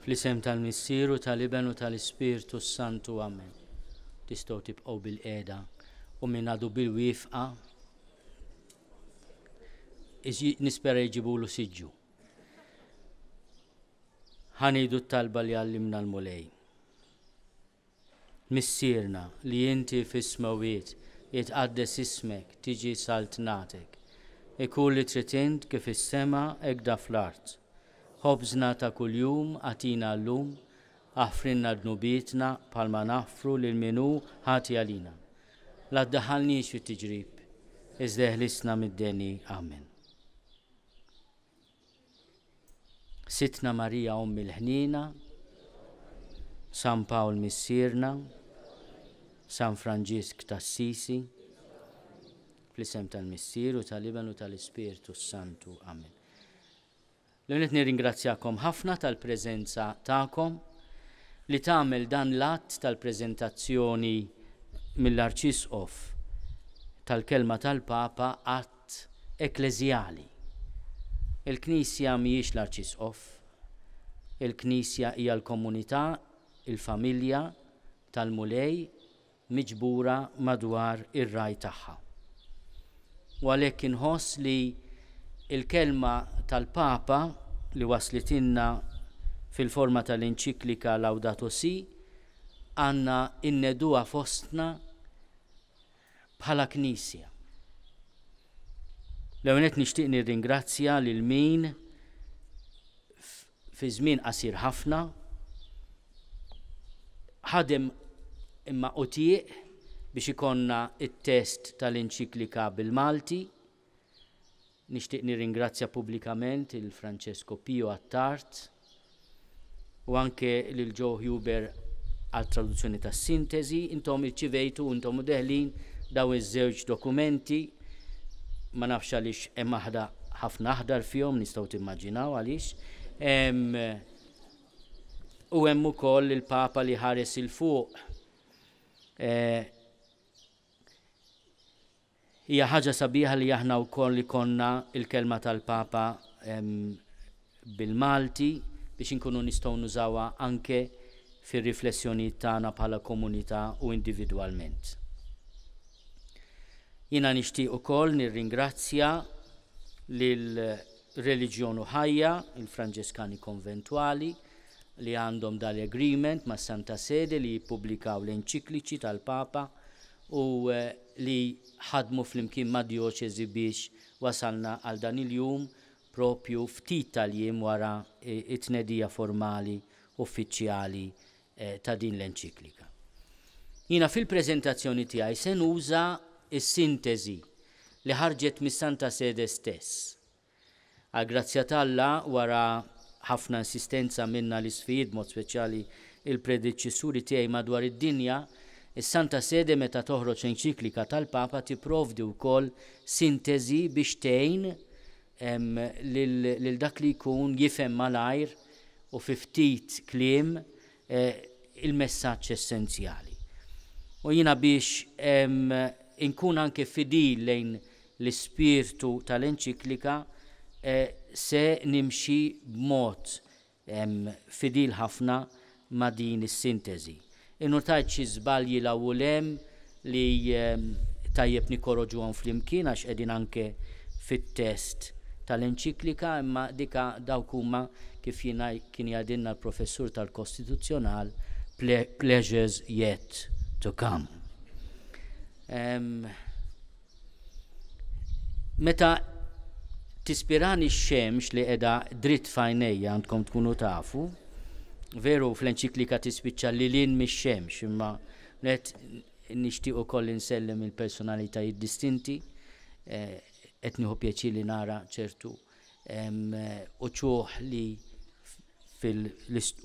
Fl-isem tal-Missier u tal-Iben u tal-Ispirtu s-Santu. Amen. Tistgħu tibqgħu bil-qiegħda u min għadu bil-wifqa nispera jġibulu siġġu. Ħa ngħidu t-talba li għallimna l-Mulej. Missierna li inti fis-smewwiet, jitqaddes ismek, tiġi saltnatek. Ikun li trid int kif fis-sema hekk da fl-art. Ħobżna ta' kuljum agħtina llum, aħfrilna dnubietna bħalma naħfru lil min hu ħati għalina. La ddaħħalniex fit-tiġrib, iżda eħlisna mid-deni. Amen. Sidtna Marija Omm il-Ħniena, San Pawl Missierna, San Franġisk t'Assisi, fl-isem tal-Missier u tal-Iben u tal-Ispirtu s-Santu. Amen. L-ewwel nett nirringrazzjakom ħafna tal-preżenza tagħkom li tagħmel dan l-att tal-preżentazzjoni mill-Arċisqof tal-kelma tal-Papa att ekkleżjali. Il-Knisja mhijiex l-Arċisqof. Il-Knisja hija l-komunità, il-familja tal-Mulej miġbura madwar ir-Ragħaj tagħha. U għalhekk inħoss li l-kelma tal-Papa li waslitilna fil-forma tal-Enċiklika Laudato Si' għandna nneduha fostna bħala Knisja. L-ewwel nett nixtieq nirringrazzja lil min fi żmien qasir ħafna ħadem imma utieq biex ikollna t-test tal-enċiklika bil-Malti. Nixtieq nirringrazzja pubblikament il Francesco Pio Attard u anke lil Joe Huber għat-traduzzjoni tas-sintesi. Intom irċivejtu intom u deħlin dawn iż-żewġ dokumenti. Ma nafx għaliex hemm aħda ħafna aħdar fihom, nistgħu timmaġinaw għaliex. U hemm ukoll il-Papa li ħares 'il fuq. Eh, Hija ħaġa sabiħa li aħna wkoll ikollna l-kelma tal-Papa bil-Malti biex inkunu nistgħu nużawha anke fir-riflessjonijiet tagħna bħala komunità u individwalment. Jiena nixtieq ukoll nirringrazzja lil Reliġjon u Ħajja, il-Franġiskani Konventwali, li għandhom dal-agreement mas-Santa Sede li jippubblikaw l-enċikliċi tal-Papa u li ħadmu flimkien mad-djoċesi biex wasalna għal dan il-jum propju ftit tal-jiem wara t-tnedija formali uffiċjali ta' din l-enċiklika. Jiena fil-preżentazzjoni tiegħi se nuża s-sintesi li ħarġet mis-Santa Sede stess. Għall-grazzja t'Alla, wara ħafna insistenza minna l-Isqfijiet b'mod speċjali il-predeċessuri tiegħi madwar id-dinja, is-Santa Sede meta toħroġ enċiklika tal-Papa tipprovdi wkoll sintesi biex tgħin lil dak li jkun jifhem malajr u fi ftit kliem il-messaġġ essenzjali. U jiena biex inkun anke fidil lejn l-ispirtu tal-enċiklika se nimxi b'mod fidil ħafna ma' din is-sinteżi. Innutajt xi żbalji 'l hawn u 'l hemm li tajjeb nikkoroġuhom flimkien għax qegħdin anke fit-test tal-enċiklika imma dika dawk huma kif kien jgħidilna l-professur tal-Kostituzzjonal pleasures yet to come. Meta tispirani x-xemx li qiegħda dritt f'għajnejja għandkom tkunu tafu, veru fl-enċiklika tispiċċa lil hinn mix-xemx, imma qed nixtieq ukoll insellem il-personalitajiet distinti, qed nieħu pjaċir li nara ċertu uċuħ li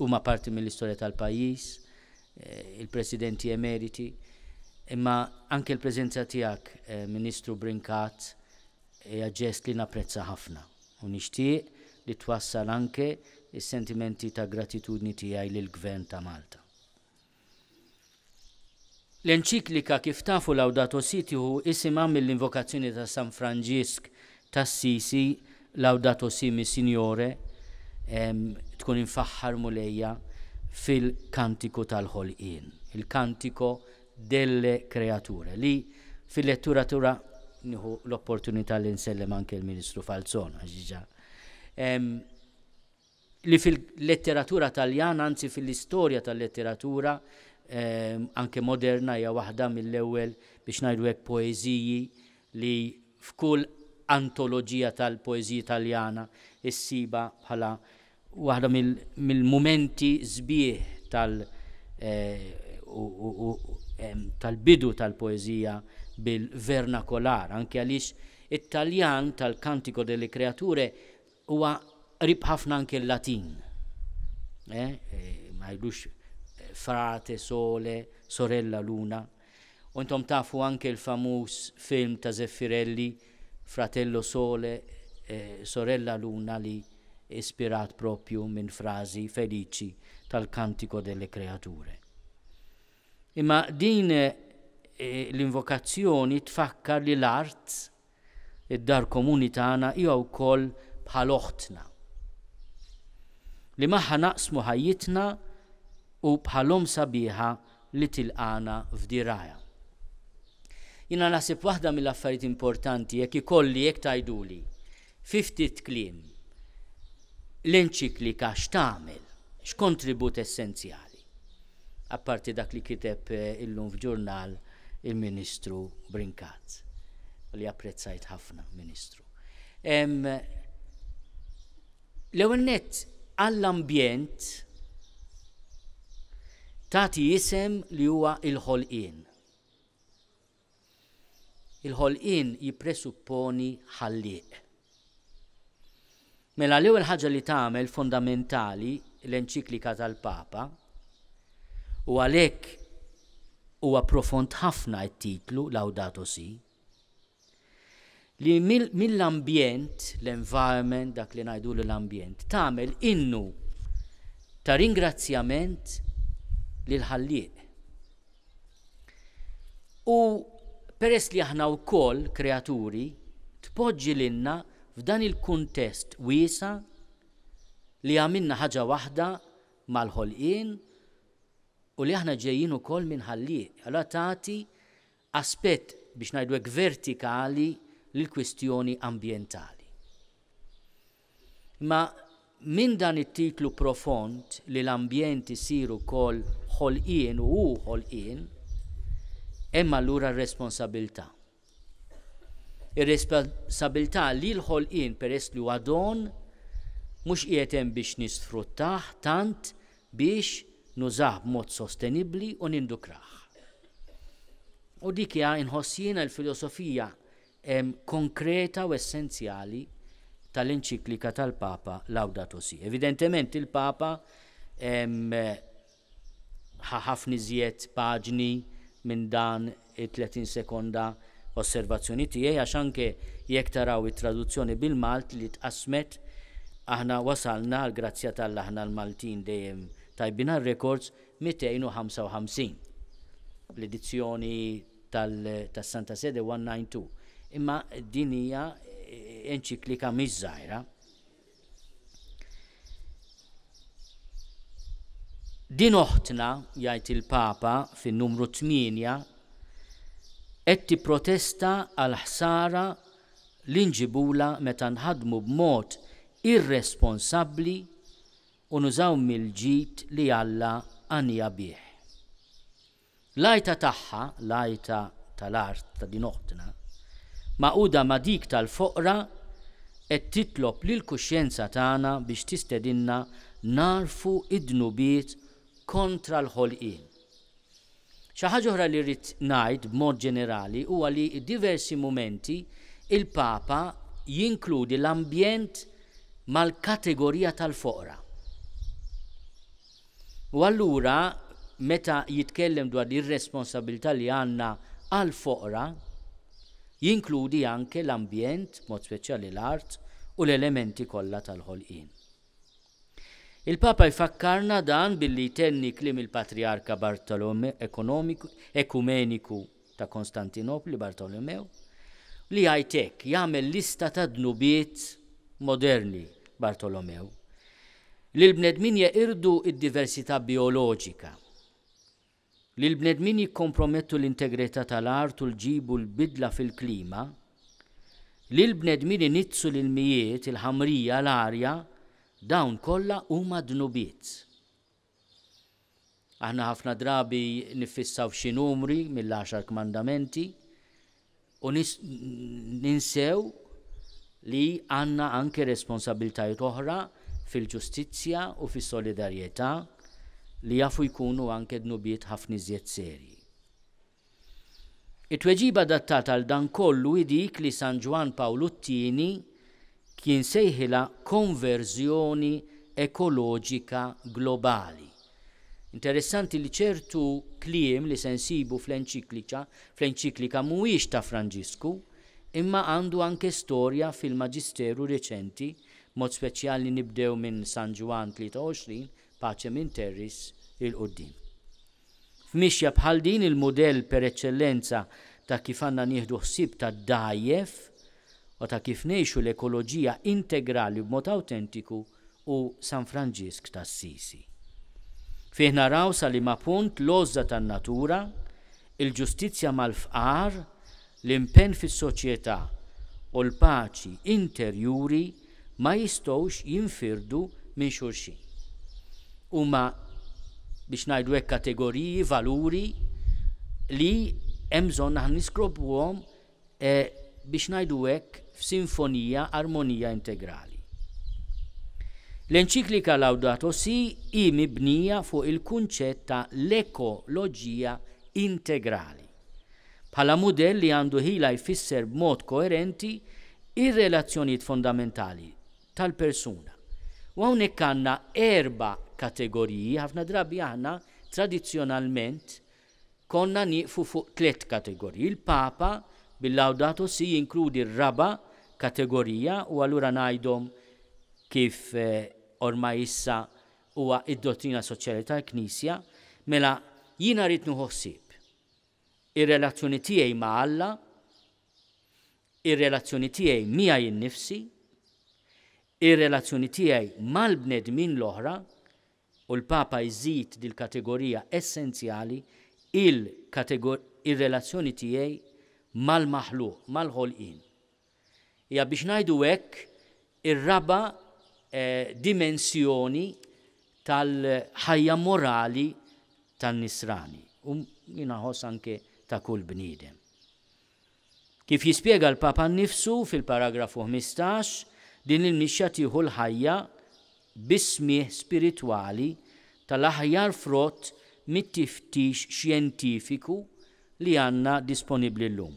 huma parti mill-istorja tal-pajjiż, il-presidenti emeriti, imma anke l-preżenza tiegħek, Ministru Brincat, hija ġest li napprezza ħafna u nixtieq li twassal anke s-sentimenti ta' gratitudni tiegħi lill-Gvern ta' Malta. L-enċiklika kif tafu Laudato Si tieħu isimha mill-invokazzjoni ta' San Franġisk t'Assisi Laudato Si mi Signore, tkun tkun imfaħħar Mulejja fil-Kantiku tal-Ħolqien, il-Cantico delle Creature, li fil-lettura tura nieħu l-opportunità li nsellem anke l-Ministru Falzon għax diġà li fil-letteratura Taljana, anzi fil-istorja tal-letteratura anke moderna hija waħda mill-ewwel biex ngħidu hekk poeżiji li f'kull antoloġija tal-poeżiji Taljana issibha bħala waħda mill-mumenti sbieħ tal tal-bidu tal-poeżija bil-vernakolar, anke għaliex it-Taljan tal-Cantico delle Creature Huwa qrib ħafna anke l-Latin. Eh, eh, ma jgħidux eh, frate, sole, sorella, luna. U intom tafu anke l-famuż film ta' Zeffirelli, Fratello Sole, eh, Sorella Luna li ispirat propju minn frażi feliċi tal-Cantico delle Creature. Imma din l-invokazzjoni tfakkar li l-art Id-dar komuni tagħna hija wkoll bħal oħtna, li magħha naqsmu ħajjitna u bħal omm sabiħa li tilqagħna f'dirgħajha. Jiena naħseb waħda mill-affarijiet importanti jekk ikolli jekk tgħiduli fi ftit kliem l-enċiklika x'tagħmel, x'kontribut essenzjali. Apparti dak li kiteb illum f'ġurnal il-Ministru Brincat, li apprezzajt ħafna, Ministru. L-ewwel nett għall-ambjent tagħti isem li huwa il-ħolqien. Il-ħolqien jippresupponi ħallieq. Mela l-ewwel ħaġa li tagħmel fondamentali l-enċiklika tal-Papa, u għalhekk huwa profond ħafna t-titlu Laudato Si, li mill-ambjent, l-environment, dak li ngħidulu l-ambjent, tagħmel innu ta' ringrazzjament lill-Ħallieq. U peress li aħna wkoll kreaturi, tpoġġi lilna f'dan il-kuntest wiesa' li għamilna ħaġa waħda mal-ħolqien u li aħna ġejjin ukoll minn ħallieq. Allura tagħti aspett biex ngħidu hekk vertikali lill-kwistjoni ambjentali. Imma minn dan it-titlu profond li l-ambjent isir ukoll ħolqien u hu ħolqien, hemm allura r-responsabilità. Ir-responsabilità li l-ħolqien peress li huwa don mhux qiegħed hemm biex nisfruttah tant biex nużah b'mod sostenibbli u nindukrah. U dik hija inħoss jiena l-filosofija konkreta u essenzjali tal-enċiklika tal-Papa Laudato Si. Evidentement il-Papa ħa ħafna iżjed paġni minn dan it-30 sekonda osservazzjoni tiegħi għax anke jekk taraw it-traduzzjoni bil-Malt li tqassmet aħna wasalna għall-grazzja t'Alla aħna l-Maltin dejjem tajbin għar-records 255. L-edizzjoni tas-Santa Sede 192. Imma din hija enċiklika mhix żgħira. Din oħtna, jgħid il-Papa fin-numru 8, qed tipprotesta għall-ħsara li nġibulha meta nħaddmu b'mod irresponsabbli u nużaw mill-ġid li Alla għaniha bih. L-għajta tagħha, l-għajta tal-art ta' din oħtna, magħquda ma' dik tal-foqra, qed titlob lill-kuxjenza tagħna biex tistedinna nagħrfu d-dnubiet kontra l-ħolqien. Xi ħaġa oħra li rrid ngħid b'mod ġenerali huwa li diversi mumenti il-Papa jinkludi l-ambjent mal-kategorija tal-foqra. U allura meta jitkellem dwar ir-responsabilità li għandna għall-foqra, jinkludi anke l-ambjent, b'mod speċjali l-art, u l-elementi kollha tal-ħolqien. Il-Papa jfakkarna dan billi jtenni kliem il-Patrijarka Bartolomew Ekumeniku ta' Konstantinopli, Bartolomew, li jgħid hekk, jagħmel lista ta' dnubiet moderni Bartolomew. Li l-bnedmin jeqirdu d-diversità bijoloġika, li l-bnedmin jikkompromettu l-integrità tal-art u l-ġibu l-bidla fil-klima, li l-bnedmin iniġġsu l-ilmijiet, il-ħamrija, l-arja, dawn kollha huma dnubiet. Aħna ħafna drabi niffissaw f'xi numri mill-Għaxar Kmandamenti u ninsew li għandna anke responsabbiltajiet oħra fil-ġustizzja u fis-solidarjetà li jafu jkunu anke dnubiet ħafna iżjed serji. It-tweġiba adattata għal dan kollu hi dik li San Ġwann Pawlu t-Tieni kien sejħilha konverżjoni ekoloġika globali. Interessanti li ċertu kliem li se nsibu fl-enċikliċa fl-enċiklika mhuwiex ta' Franġisku, imma għandu anke storja fil-maġisteru reċenti, b'mod speċjali nibdew minn San Ġwann 23, Pacem in Terris, 'il quddiem. F'mixja bħal din il-mudell per eċċellenza ta' kif għandna nieħdu ħsieb tad-dgħajjef u ta' kif ngħixu l-ekoloġija integrali b'mod awtentiku hu San Franġisk t'Assisi. Fih naraw sa liema punt l-għożża tan-natura, il-ġustizzja mal-fqar, l-impenn fis-soċjetà u l-paċi interjuri ma jistgħux jinfirdu minn xulxin. Huma, biex ngħidu hekk, kategoriji, valuri li hemm bżonn aħna niskopruhom biex ngħidu hekk f'sinfonija, armonija integrali. L-enċiklika Laudato Si hi mibnija fuq il-kunċett ta' l-ekoloġija integrali. Bħala mudell li għandu ħila jfisser b'mod koerenti r-relazzjonijiet fondamentali tal-persuna. U hawnhekk għandna erba' kategoriji, ħafna drabi aħna tradizzjonalment konna nieqfu fuq tliet kategoriji. Il-Papa bil-Laudato Si jinkludi r-raba' kategorija u allura ngħidhom kif ormai issa huwa d-dottrina soċjali tal-Knisja, mela jiena rrid nieħu ħsieb ir-relazzjoni tiegħi ma' Alla, ir-relazzjoni tiegħi miegħi nnifsi, ir-relazzjoni tiegħi mal-bnedmin l-oħra, u l-Papa jżid dil-kategorija essenzjali, il-relazzjoni tiegħi mal-maħluq, mal-ħolqien. Hija biex ngħidu hekk ir-raba' dimensjoni tal-ħajja morali tan-Nisrani u jiena nħoss anke ta' kull bniedem. Kif jispjega l-Papa nnifsu fil-paragrafu 15, din il-mixja tieħu l-ħajja bis-smigħ spiritwali tal-aħjar frott mit-tiftix xjentifiku li għandna disponibbli llum.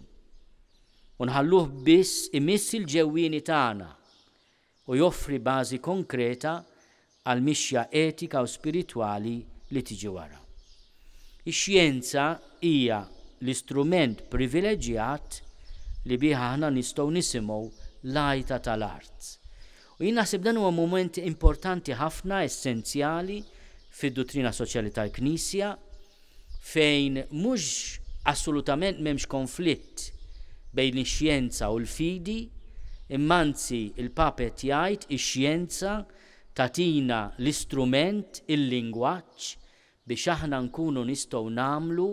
U nħalluh biss imiss il-ġewwieni tagħna u joffri bażi konkreta għall-mixja etika u spiritwali li tiġi wara. Ix-xjenza hija l-istrument privileġġjat li bih aħna nistgħu nisimgħu l-għajta tal-art. U jien naħseb dan huwa mument importanti ħafna, essenzjali fid-duttrina soċjali tal-Knisja, fejn mhux assolutament m'hemmx konflitt bejn ix-xjenza u l-fidi, imma anzi l-Papa qed jgħid ix-xjenza tagħtina l-istrument, il-lingwaġġ biex aħna nkunu nistgħu nagħmlu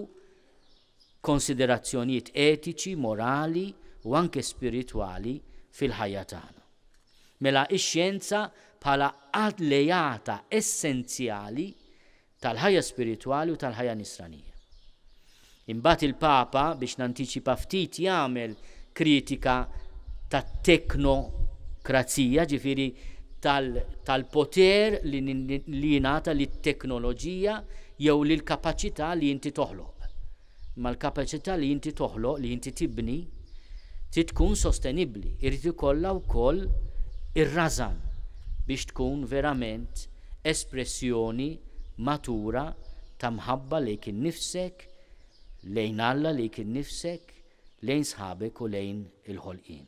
konsiderazzjonijiet etiċi, morali u anke spiritwali fil-ħajja tagħna. Mela x-xjenza bħala alleata essenzjali tal-ħajja spiritwali u tal-ħajja nisranija. Imbagħad il-Papa, biex nantiċipa ftit, jagħmel kritika tat-teknokrazija, ġifieri tal-poter li jingħata lit-teknoloġija jew lill-kapaċità li inti toħloq. Imma l-kapaċità li inti toħloq, li inti tibni, trid tkun sostenibbli, irid ikollha wkoll ir-rażan biex tkun verament espressjoni matura ta' mħabba lejk innifsek, lejn Alla, lejk innifsek, lejn sħabek u lejn il-ħolqien.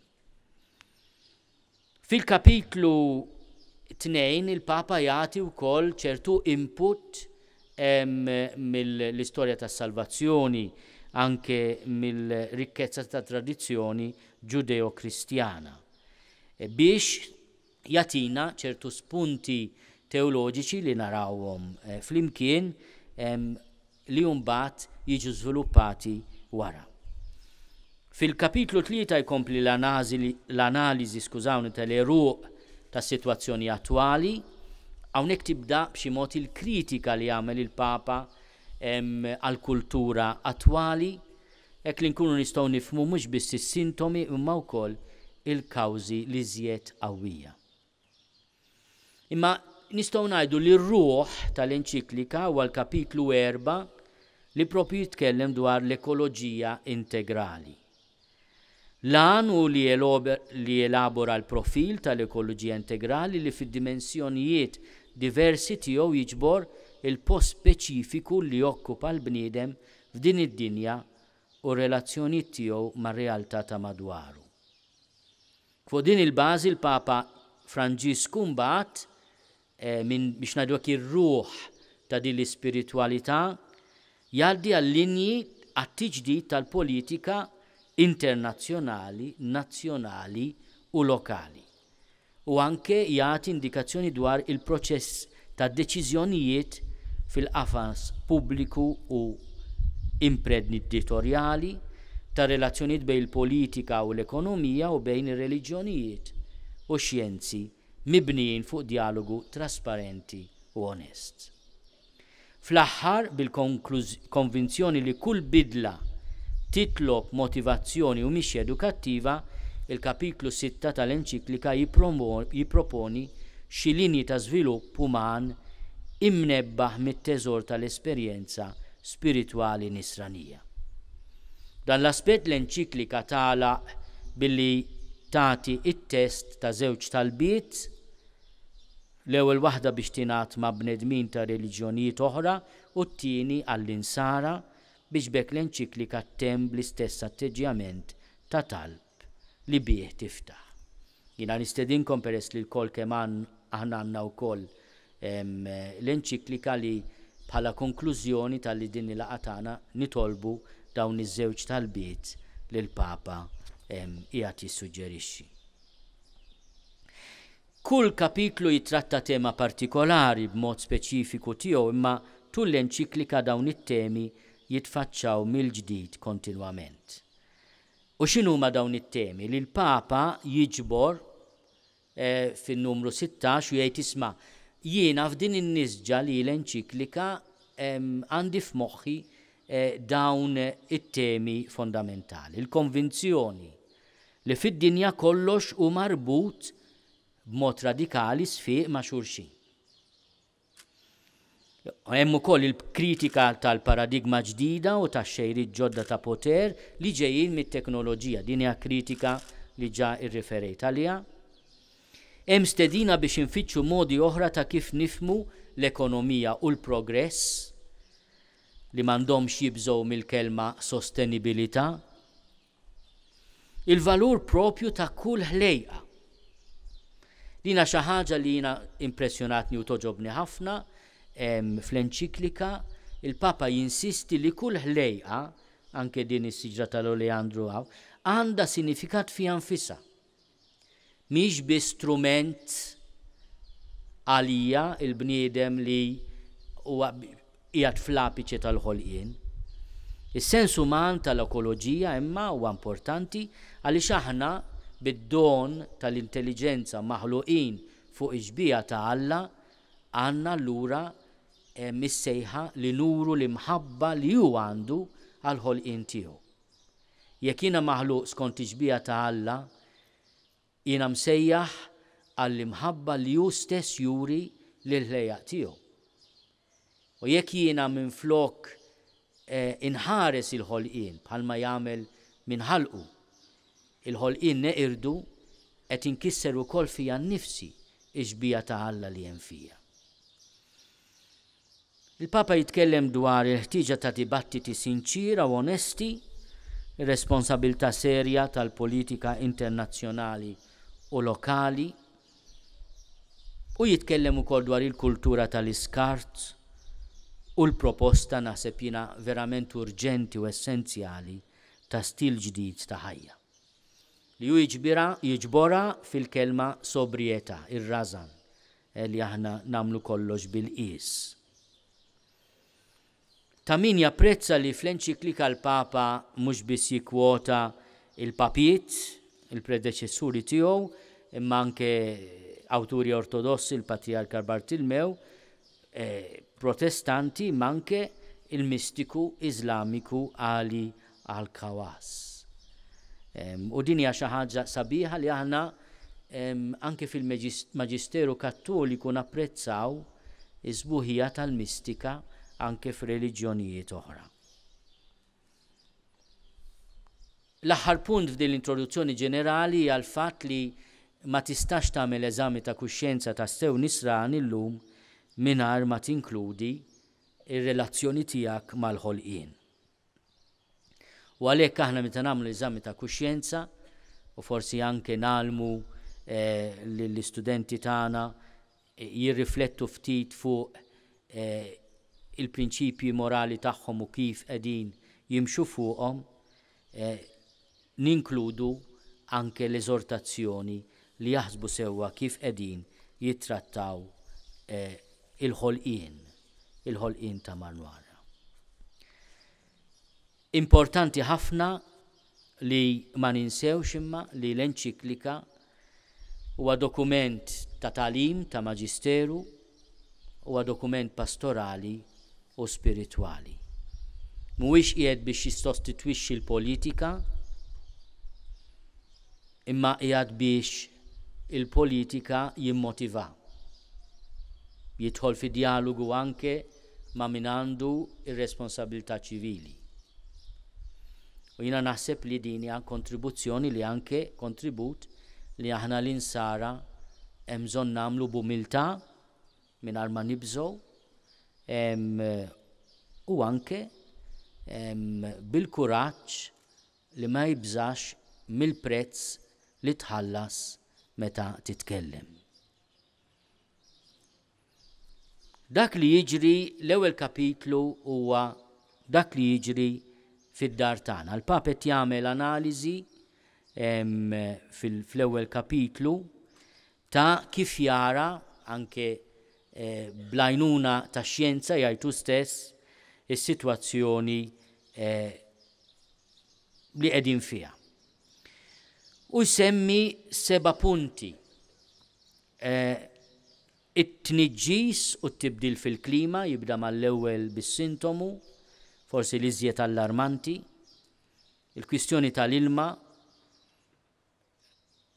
Fil-kapitlu 2 il-Papa jagħti wkoll ċertu input mill-istorja tas-salvazzjoni, anke mill-rikkezza tat-tradizzjoni Ġudeo-Kristjana, biex jagħtina ċertu spunti teoloġiċi li narawhom flimkien li mbagħad jiġu żviluppati wara. Fil-kapitlu 3 jkompli l-analiżi, skużawni, tal-għeruq tas-sitwazzjoni attwali. Hawnhekk tibda b'xi mod il-kritika li jagħmel il-Papa għall-kultura attwali, hekk li nkunu nistgħu nifhmu mhux biss is-sintomi imma wkoll il-kawżi l-iżjed qawwija. Imma nistgħu ngħidu li r-ruħ tal-enċiklika huwa l-kapitlu 4 li propju jitkellem dwar l-ekoloġija integrali. L-għan hu li jelabora l-profil tal-ekoloġija integrali li fid-dimensjonijiet diversi tiegħu jiġbor il-post speċifiku li jokkupa l-bniedem f'din id-dinja u r-relazzjonijiet tiegħu mar-realtà ta' madwaru. Fuq din il-bażi l-Papa Franġisku mbagħad, minn biex ngħidu hekk ir-ruħ ta' din l-ispiritwalità, jgħaddi għal-linji għat-tiġdid tal-politika internazzjonali, nazzjonali u lokali u anke jagħti indikazzjoni dwar il-proċess ta' deċiżjonijiet fil-qafas pubbliku u imprenditorjali, tar-relazzjonijiet bejn il-politika u l-ekonomija u bejn ir-reliġjonijiet u x-xjenzi mibnijin fuq djalogu trasparenti u onest. Fl-aħħar, bil-konvinzjoni li kull bidla titlob motivazzjoni u mixja edukattiva, il-kapitlu 6 tal-enċiklika jipproponi xi linji ta' żvilupp uman imnebbaħ mit-teżor tal-esperjenza spiritwali nisranija. F'dan l-aspett l-enċiklika tagħlaq billi tagħti t-test ta' żewġ talbiet, l-ewwel waħda biex tingħad ma' bnedmin ta' reliġjonijiet oħra u t-tieni għall-Insara biex b'hekk l-enċiklika ttemm bl-istess atteġġjament ta' talb li bih tiftaħ. Jiena nistedinkom peress li lkoll kemm aħna għandna wkoll l-enċiklika li bħala konklużjoni ta' li din il-laqgħa tagħna nitolbu dawn iż-żewġ talbiet li l-Papa qiegħed jissuġġerixxi. Kull kapitlu jittratta tema partikolari b'mod speċifiku tiegħu imma tul l-enċiklika dawn it-temi jitfaċċaw mill-ġdid kontinwament. U x'inhuma dawn it-temi li l-Papa jiġbor fin-numru 16 u jgħid isma' jiena f'din in-nisġa li l-enċiklika għandi f'moħħi dawn it-temi fondamentali. Il-konvinzjoni li fid-dinja kollox hu marbut b'mod radikali sfiq ma' xulxin. Hemm ukoll il-kritika tal-paradigma ġdida u tax-xejriet ġodda ta' poter li ġejjin mit-teknoloġija. Din hija kritika li ġa rriferejt għaliha. Hemm stedina biex infittxu modi oħra ta' kif nifhmu l-ekonomija u l-progress li m'għandhomx jibżgħu mill-kelma sostenibilità. Il-valur proprju ta' kull ħlejqa. Din hija xi ħaġa li jiena impressjonatni u togħġobni ħafna fl-enċiklika, il-Papa jinsisti li kull ħlejqa, anke din is-siġra tal-oleandru hawn, għandha sinifikat fiha nfisha. Mhix biss strument għalija il-bniedem li huwa qiegħed fl-apiċe tal-ħolqien. Is-sens uman tal-ekoloġija imma huwa importanti għaliex aħna bid-don tal-intelliġenza maħluqin fuq ix-xbieha ta' Alla għandna allura is-sejħa li nuru l-imħabba li hu għandu għall-ħolqien tiegħu. Jekk jiena maħluq skont ix-xbieha ta' Alla, jiena msejjaħ għall-imħabba li hu stess juri lill-ħlejjaq tiegħu. U jekk jiena minflok inħares il-ħolqien bħalma jagħmel min ħalqu, il-ħolqien neqirdu, qed inkisser ukoll fija nnifsi x-xbieha ta' Alla li hemm fija. Il-Papa jitkellem dwar il-ħtieġa ta' dibattiti sinċiera u onesti, ir-responsabilità serja tal-politika internazzjonali u lokali, u jitkellem ukoll dwar il-kultura tal-iskart u l-proposta, naħseb jiena, verament urġenti u essenzjali ta' stil ġdid ta' ħajja, li hu jiġbirha, jiġborha fil-kelma sobrietà, ir-rażan. li aħna nagħmlu kollox bil-qies. Ta' min japprezza li fl-enċiklika l-Papa mhux biss jikkwota l-papiet, il-predeċessuri tiegħu, imma anke awturi ortodossi, il-Patrijarka Bartilmew, Protestanti imma anke il-mistiku Iżlamiku Ali Al-Khawas. U din hija xi ħaġa sabiħa li aħna anke fil-Maġisteru Kattoliku napprezzaw is-sbuħija tal-mistika anke f'reliġjonijiet oħra. L-aħħar punt f'din l-introduzzjoni ġenerali hija l-fatt li ma tistax tagħmel eżami ta' kuxjenza tassew Nisrani llum mingħajr ma tinkludi r-relazzjoni tiegħek mal-ħolqien. U għalhekk aħna meta nagħmlu eżami ta' kuxjenza, u forsi anke ngħallmu lill-istudenti tagħna jirriflettu ftit fuq il-prinċipji morali tagħhom u kif qegħdin jimxu fuqhom, ninkludu anke l-eżortazzjoni li jaħsbu sewwa kif qegħdin jittrattaw il-ħolqien, il-ħolqien ta' madwarna. Importanti ħafna li ma ninsewx imma li l-enċiklika huwa dokument ta' tagħlim, ta' maġisteru, huwa dokument pastorali u spiritwali. Mhuwiex qiegħed biex jissostitwixxi l-politika, imma qiegħed biex il-politika jimmotiva. Jidħol fi djalogu anke ma' min għandu r-responsabilità ċivili. U jiena naħseb li din hija kontribuzzjoni li anke kontribut li aħna l-Insara hemm bżonn nagħmlu b'umiltà mingħajr ma nibżgħu u anke bil-kuraġġ li ma jibżax mill-prezz li tħallas meta titkellem. Dak li jiġri l-ewwel kapitlu huwa dak li jiġri fid-dar tagħna. Il-Papa qed jagħmel analiżi fl-ewwel kapitlu ta' kif jara anke eh, bl-għajnuna tax-xjenza jgħid hu stess is-sitwazzjoni eh, li qegħdin fiha. U jsemmi seba' punti It-tniġġis u t-tibdil fil-klima jibda mal-ewwel bis-sintomu, forsi l-iżjed allarmanti, il-kwistjoni tal-ilma,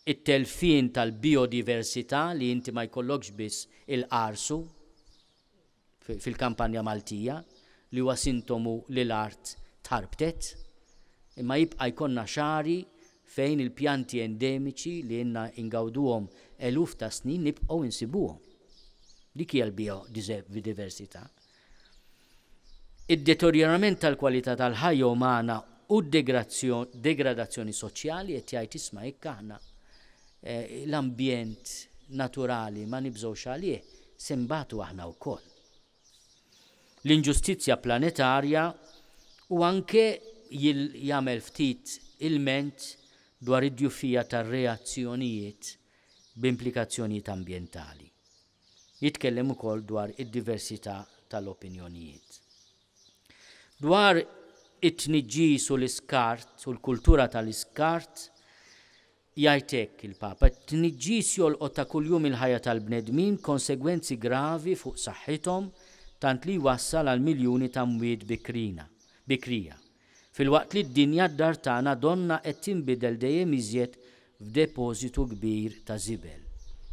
it-telfien tal-bijodiversità li inti ma jkollokx biss il-qarsu fil-kampanja Maltija li huwa sintomu li l-art tħarbtet, imma jibqa' jkollna xagħri fejn il-pjanti endemiċi li ilna ingawduhom eluf ta' snin nibqgħu insibuhom. Dik hija l-bijodiversità. Id-deterjorament tal-kwalità tal-ħajja umana u d-degradazzjoni soċjali qed jgħid isma' jekk aħna l-ambjent naturali ma nibżgħux għalih, se nbatu aħna wkoll. L-inġustizzja planetarja u anke jagħmel ftit ilment dwar id-djufija tar-reazzjonijiet b'implikazzjonijiet ambjentali. Jitkellem ukoll dwar id-diversità tal-opinjonijiet. Dwar it-tniġġis u l-iskart u l-kultura tal-iskart, jgħid hekk il-Papa, It-tniġġis jolqot ta' kuljum il-ħajja tal-bnedmin b'konsegwenzi gravi fuq saħħithom tant li jwassal għal miljuni ta' mwiet bikrina, bikrija. Filwaqt li d-dinja d-dar tagħna donnha qed tinbidel dejjem iżjed f'depożitu kbir ta' żibel.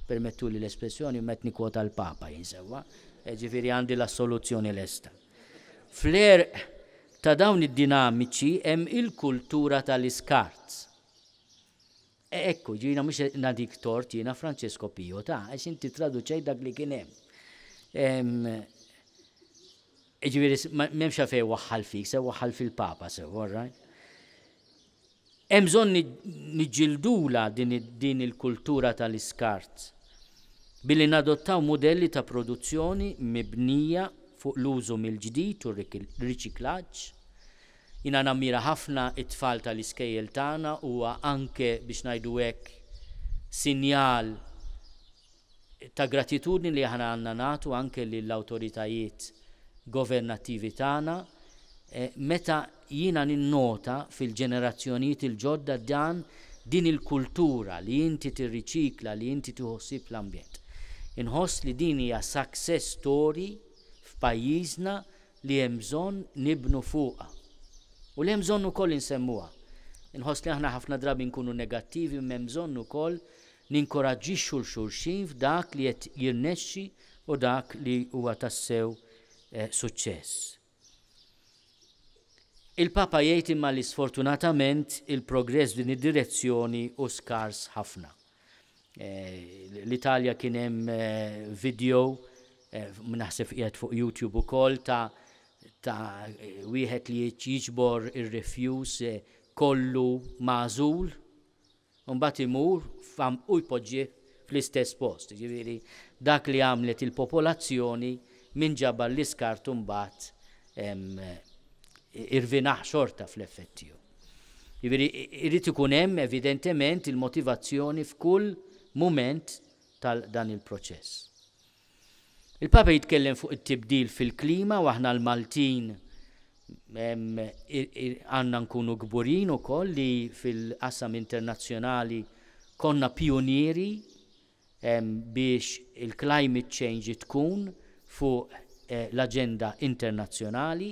Permettuli l-espressjoni imma qed nikkwota l-Papa jien sewwa, jiġifieri għandi l-assoluzzjoni lesta. Fl-għerq ta' dawn id-dinamiċi hemm il-kultura tal-iskart. E ekku, jiena mhux qed nagħtik tort jiena Francesco Pio ta' għax inti traduċejt dak li kien hemm. Jiġifieri m'hemmx għalfejn waħħal fik, se waħħal fil-Papa sew, all right? Hemm bżonn niġġildulha din il-kultura tal-iskart billi nadottaw mudelli ta' produzzjoni mibnija fuq l-użu mill-ġdid u r-riċiklaġġ. Jiena nammira ħafna t-tfal tal-iskejjel tagħna, huwa anke, biex ngħidu hekk, sinjal. ta' gratitudni li aħna għandna nagħtu anke lill-awtoritajiet governattivi tagħna meta jiena ninnota fil-ġenerazzjonijiet il-ġodda dan din il-kultura li inti tirriċikla, li inti tieħu ħsieb l-ambjent. Inħoss li din hija success story f'pajjiżna li hemm bżonn nibnu fuqha. U li hemm bżonn ukoll insemmuha. Inħoss li aħna ħafna drabi nkunu negattivi imma hemm bżonn ukoll ninkoraġġixxu 'l xulxin f'dak li qed jirnexxi u dak li huwa tassew suċċess. Il-Papa jgħid imma li sfortunatament il-progress f'din id-direzzjoni hu skars ħafna. L-Italja kien hemm video, naħseb qiegħed fuq YouTube ukoll, ta' ta' wieħed li jiġbor ir-refuse kollu magħżul U mbagħad imur u jpoġġih fl-istess post. Jiġifieri dak li għamlet il-popolazzjoni min ġabar l-iskart u mbagħad irvinah xorta fl-effett tiegħu. Jiġifieri irid ikun hemm evidentement il-motivazzjoni f'kull mument tal dan il-proċess. Il-Papa jitkellem fuq it-tibdil fil-klima u aħna l-Maltin għandna nkunu kburin ukoll li fil-qasam internazzjonali konna pijunieri biex il-climate change tkun fuq l-aġenda internazzjonali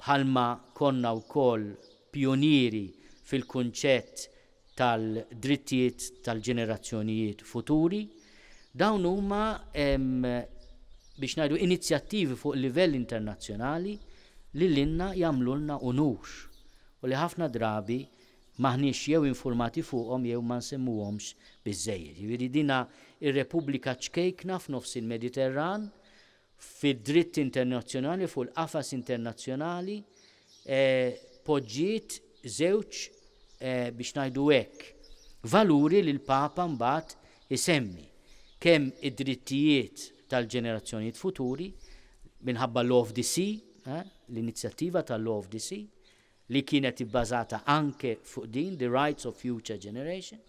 bħalma konna wkoll pijunieri fil-kunċett tal-drittijiet tal-ġenerazzjonijiet futuri. Dawn huma biex ngħidu inizjattivi fuq livell internazzjonali li lilna jagħmlulna unur u li ħafna drabi m'aħniex jew infurmati fuqhom jew ma nsemmuhomx biżżejjed. Jiġifieri dina r-Repubblika ċkejkna f'nofs il-Mediterran fid-dritt internazzjonali, fuq il-qafas internazzjonali, poġġiet żewġ, biex ngħidu hekk, valuri li l-Papa mbagħad isemmi, kemm id-drittijiet tal-ġenerazzjonijiet futuri, minħabba Law of the Sea, l-inizjattiva tal-Law of the Sea, li kienet ibbażata anke fuq din, the rights of future generation,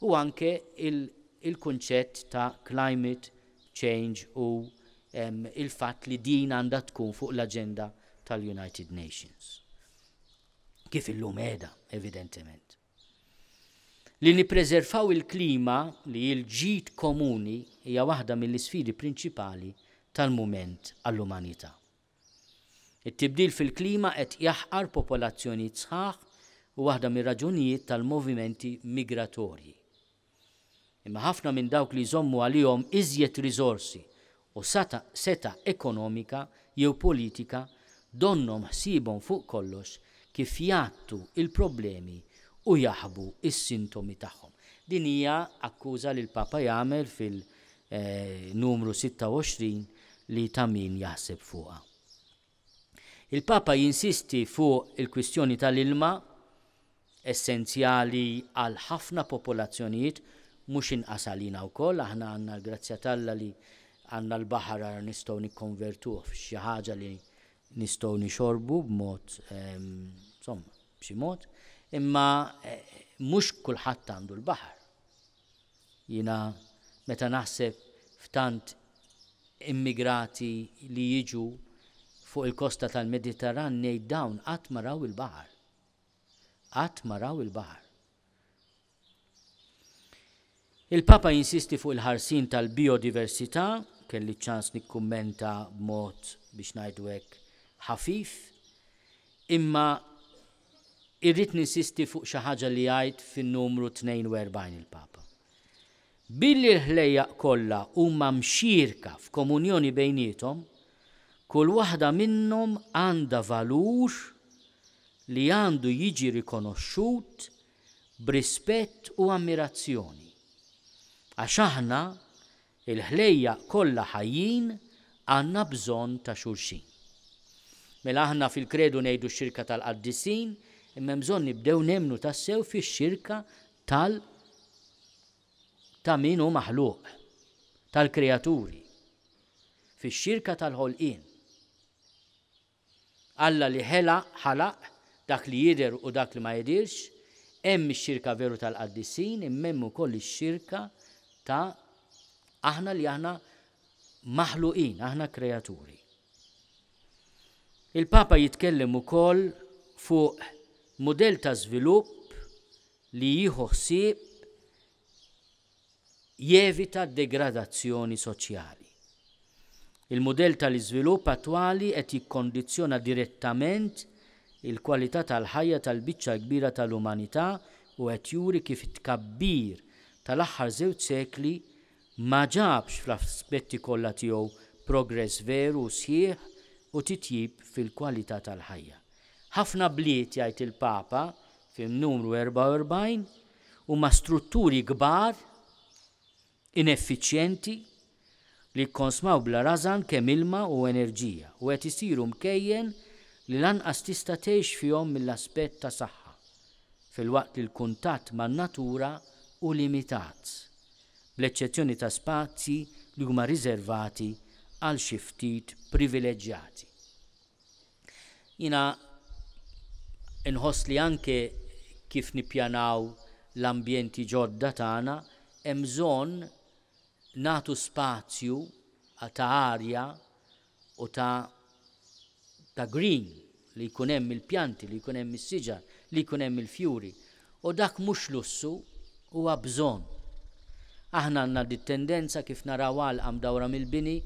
u anke il-kunċett ta' climate change u il-fatt li din għandha tkun fuq l-aġenda tal-United Nations. Kif illum qiegħda, evidentement. Li nippreservaw il-klima li hi l-ġid komuni hija waħda mill-isfidi prinċipali tal-mument għall-umanità. It-tibdil fil-klima qed jaħqar popolazzjonijiet sħaħ u waħda mir-raġunijiet tal-movimenti migratorji. Imma ħafna minn dawk li jżommu għalihom iżjed riżorsi u setgħa ekonomika jew politika donnhom ħsiebhom fuq kollox kif jgħattu l-problemi u jaħbu s-sintomi tagħhom. Din hija akkuża li l-Papa jagħmel fil numru 26 li ta' min jaħseb fuqha. Il-Papa jinsisti fuq il-kwistjoni tal-ilma, essenzjali għal ħafna popolazzjonijiet, mhux inqas għalina wkoll, aħna għandna l-grazzja t'Alla li għandna l-baħar ara nistgħu nikkonvertuh f'xi ħaġa li nistgħu nixorbu b'mod, insomma, b'xi mod, imma mhux kulħadd għandu l-baħar. Jiena meta naħseb f'tant immigrati li jiġu fuq il-kosta tal-Mediterran ngħid dawn qatt ma raw il-baħar. Qatt ma raw il-baħar. Il-Papa jinsisti fuq il-ħarsien tal-bijodiversità, kelli ċ-ċans nikkummenta b'mod biex ngħidu hekk ħafif, imma Irrid ninsisti fuq xi ħaġa li jgħid fin-numru 42 il-Papa. Billi l-ħlejjaq kollha huma mxierka f'komunjoni bejniethom, kull waħda minnhom għandha valur li għandu jiġi rikonoxxut b'rispett u ammirazzjoni. Għax aħna Il-ħlejjaq kollha ħajjin għandna bżonn ta' xulxin. Mela aħna fil-Kredu ngħidu x-xirka tal-qaddisin, imma hemm bżonn nibdew nemmnu tassew fix-xirka tal ta' min hu maħluq, tal-kreaturi, fix-xirka tal-ħolqien. Alla li ħela, ħalaq, dak li jidher u dak li ma jidhirx, hemm ix-xirka veru tal-qaddisin imma hemm ukoll ix-xirka ta' Aħna li aħna maħluqin, aħna kreaturi. Il-Papa jitkellem ukoll fuq mudell ta' żvilupp li jieħu ħsieb jevita d-degradazzjoni soċjali. Il-mudell tal-iżvilupp attwali qed jikkondizzjona direttament il-kwalità tal-ħajja tal-biċċa l-kbira tal-umanità u qed juri kif it-tkabbir tal-aħħar żewġ sekli ma ġabx fl-aspetti kollha tiegħu progress veru u sħiħ u titjib fil-kwalità tal-ħajja. Ħafna bliet, jgħid il-Papa fin-numru 44, huma strutturi kbar, ineffiċjenti, li jikkonsmaw bla rażan kemm ilma u enerġija u qed isiru mkejjen li lanqas tista' tgħix fihom mill-aspett ta' saħħa, filwaqt li l-kuntatt man-natura hu limitat, bl-eċċezzjoni ta' spazji li huma riservati għal xi ftit privileġġjati. Jiena nħoss li anke kif nippjanaw l-ambjenti ġodda tagħna hemm bżonn nagħtu spazju ta' arja u ta' ta' green, li jkun hemm il-pjanti, li jkun hemm is-siġar, li jkun hemm il-fjuri. U dak mhux lussu, huwa bżonn. Aħna għandna dit-tendenza kif naraw għalqa mdawra mill-bini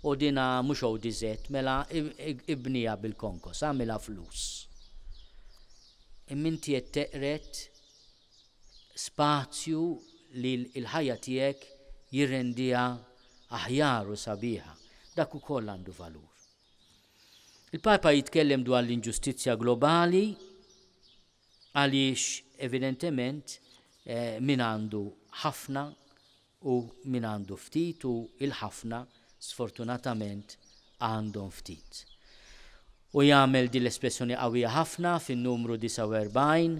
u dina mhux ODZ, mela ibniha bil-konkos, agħmilha flus. Imma inti qed teqred spazju li l-ħajja tiegħek jirrendiha aħjar u sabiħa. Dak ukoll għandu valur. Il-Papa jitkellem dwar l-inġustizzja globali għaliex evidentement eh, min għandu ħafna u min għandu ftit u il-ħafna sfortunatament għandhom ftit. U jagħmel din l-espressjoni qawwija ħafna fin-numru 49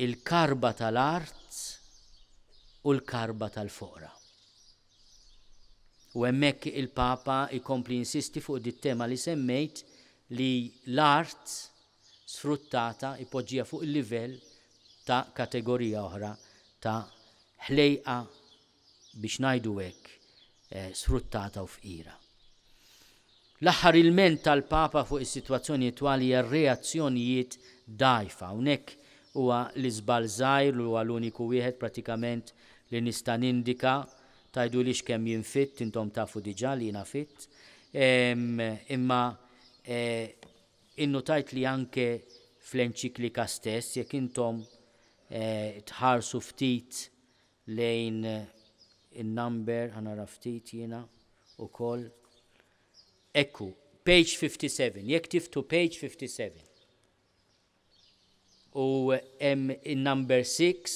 il-karba tal-art u l-karba tal-foqra. U hemmhekk il-Papa jkompli jinsisti fuq dit-tema li semmejt li l-art sfruttata jpoġġiha fuq il-livell ta' kategorija oħra ta' ħlejqa biex ngħidu hekk sfruttata u fqira. L-aħħar ilment tal-Papa fuq is-sitwazzjoni attwali hija r-reazzjonijiet dgħajfa. Hawnhekk huwa l-iżball żgħir li huwa l-uniku wieħed pratikament li nista' nindika. Tgħidulix kemm jien fitt, intom tafu diġà li jiena fitt. Imma innutajt li anke fl-enċiklika stess, jekk intom tħarsu ftit lejn in-number, ħa nara ftit jiena ukoll. Ekku, page 57, jekk tiftu page 57. U hemm in-number 6,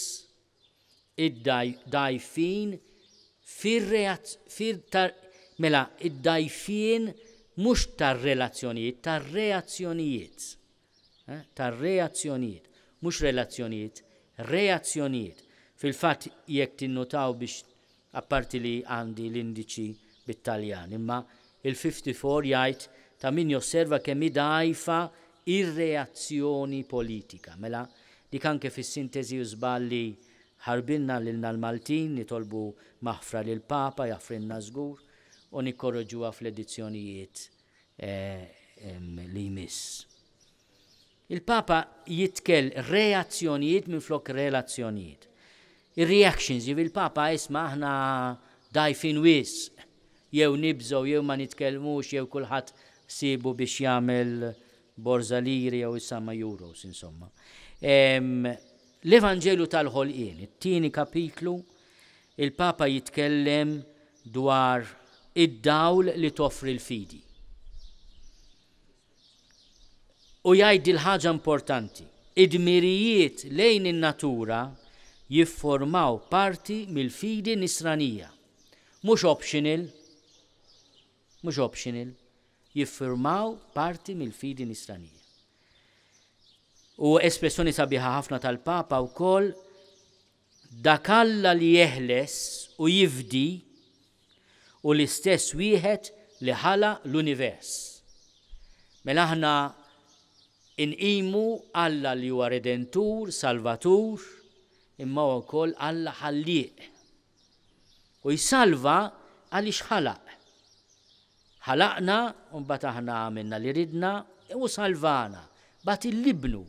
id-dgħajfin fir-reaz-, mela id-dgħajfien mhux tar-relazzjonijiet, tar-reazzjonijiet. Tar-reazzjonijiet, mhux relazzjonijiet, reazzjonijiet. Fil-fatt jekk tinnutaw biex apparti li għandi l-indiċi bit-Taljan, imma il-54 jgħid ta' min josserva kemm hi dgħajfa r-reazzjoni politika. Mela dik anke fis-sintesi hu żball li ħarbilna lilna l-Maltin, nitolbu maħfra lill-Papa, jaħfrilna żgur, u nikkorreġuha fl-edizzjonijiet li jmiss. Il-Papa jitkell reazzjonijiet minflok relazzjonijiet. Ir-reactions, jiġifieri il-Papa isma' aħna dgħajfin wisq, jew nibżgħu jew ma nitkellmux jew kulħadd ħsiebu biex jagħmel borża liri jew issa ma' euros insomma. L-Evanġelju tal-ħolqien, it-tieni kapitlu, il-Papa jitkellem dwar id-dawl li toffri l-fidi. U jgħid dil-ħaġa importanti, id-dmirijiet lejn in-natura jifformaw parti mill-fidi nisranija. Mhux optional, mhux optional, jiffurmaw parti mill-fidi nisranija. U espressjoni sabiħa ħafna tal-Papa wkoll Dak Alla li jeħles u jifdi hu l-istess wieħed li ħalaq l-univers. Mela aħna nqimu Alla li huwa Redentur, Salvatur, imma huwa wkoll Alla Ħallieq. U jsalva għaliex ħalaq. Ħalaqna u mbagħad aħna għamilna li ridna u salvana. Bagħat 'il Ibnu,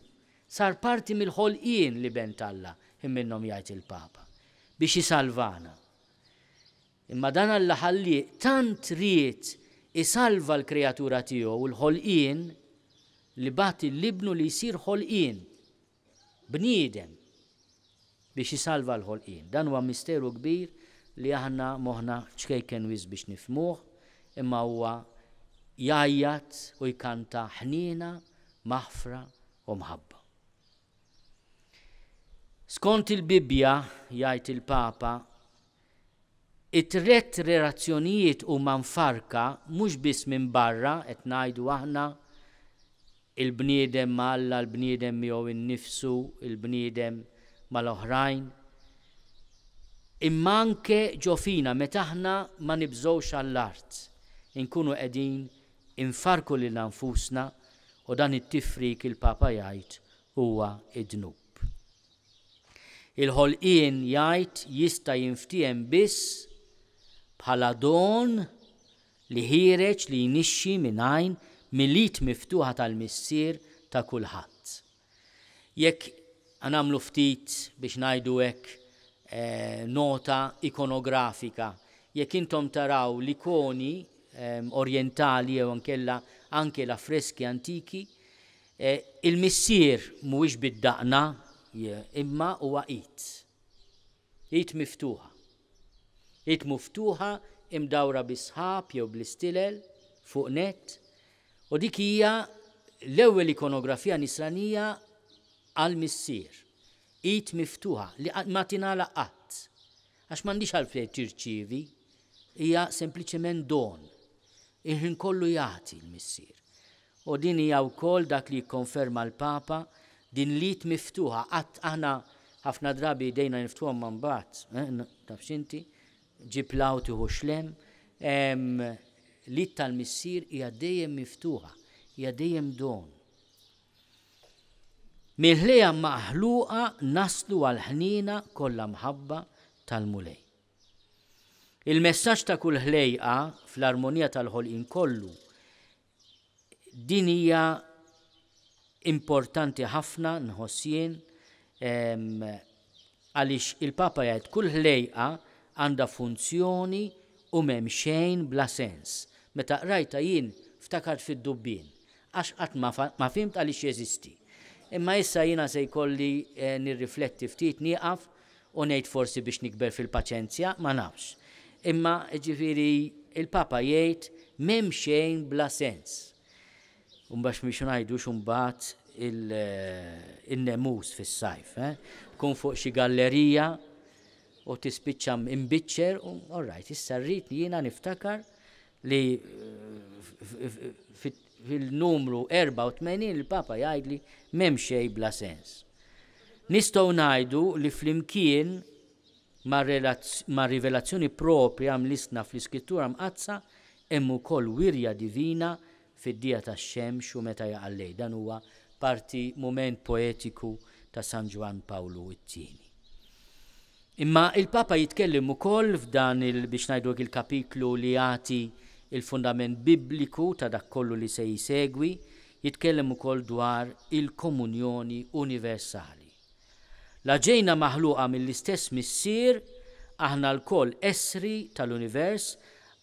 sar parti mill-ħolqien l-Iben t'Alla, ħin minnhom jgħid il-Papa, biex isalvana. Imma dan Alla ħallieq tant ried isalva l-kreatura tiegħu, l-ħolqien, li bagħat 'il Ibnu li jsir ħolqien, bniedem, biex isalva l-ħolqien. Dan huwa misteru kbir li aħna moħħna ċkejken wisq biex nifhmuh, imma huwa jgħajjat u jkanta ħniena, maħfra u mħabba. Skont il-Bibbja, jgħid il-Papa, it-tlett relazzjonijiet huma mfarrka mhux biss minn barra, qed ngħidu aħna, il-bniedem ma' Alla, il-bniedem miegħu nnifsu, il-bniedem mal-oħrajn, imma anke ġo fina meta aħna ma nibżgħux għall-art, inkunu qegħdin infarrku lilna nfusna u dan it-tifrik il-Papa jgħid huwa d-dnub. Il-ħolqien jgħid jista' jinftiehem biss bħala don li ħiereġ li jnixxi minn għajn mill-id miftuħa tal-Missier ta' kulħadd. Jekk nagħmlu ftit biex ngħidu hekk nota ikonografika, jekk intom taraw l-ikoni orjentali jew inkella anke l-affreski antiki, Il-Missier mhuwiex bid-daqna, imma huwa id. Id miftuħa. Id muftuħa imdawra bis-sħab jew bl-istilel fuq nett, u dik hija l-ewwel ikonografija nisranija għall-Missier. Id miftuħa li ma tingħalaq qatt. Għax m'għandhiex għalfejn tirċievi, hija sempliċement don. Il-ħin kollu jagħti l-Missier. U din hija wkoll dak li jikkonferma l-Papa, din l-id miftuħa, qatt aħna ħafna drabi idejna niftħuhom ma mbagħad, eh, taf x'inti, ġib 'l hawn tieħu x'lem, l-id tal-Missier hija dejjem miftuħa, hija dejjem don. Mill-ħlejja maħluqa naslu għall-ħniena kollha mħabba tal-Mulej. Il-messaġġ ta' kull ħlejqa fl-armonija tal-ħolqien kollu Din hija importanti ħafna nħoss jien għaliex il-Papa jgħid kull ħlejqa għandha funzjoni u m'hemm xejn bla sens. Meta qrajtha jien ftakart fid-dubbien għax qatt ma fhimt għaliex jeżisti. Imma issa jiena se jkolli nirrifletti ftit nieqaf u ngħid forsi biex nikber fil-paċenzja, ma nafx. Imma, jiġifieri, il-Papa jgħid m'hemm xejn bla sens. U mbagħad biex ngħidux imbagħad in-nemus fis-sajf, eh? Tkun fuq xi gallerija u tispiċċa imbiċċer u all right, issa rrid jiena niftakar li fil-numru 84 il-Papa jgħidli m'hemm xejn bla sens. Nistgħu ngħidu li flimkien mar-rivelazzjoni proprja mlissna fl-Iskrittura Mqaddsa hemm ukoll wirja divina fid-dija tax-xemx u meta jaqa' l-lejl. Dan huwa parti mument poetiku ta' San Ġwann Pawlu t-Tieni. Imma il-Papa jitkellem ukoll f'dan il biex ngħidu hekk il-kapitlu li jagħti il-fundament bibliku ta' dak kollu li se jsegwi, jitkellem ukoll dwar il-komunjoni universali. La ġejna maħluqa mill-istess Missier, aħna lkoll essri tal-univers,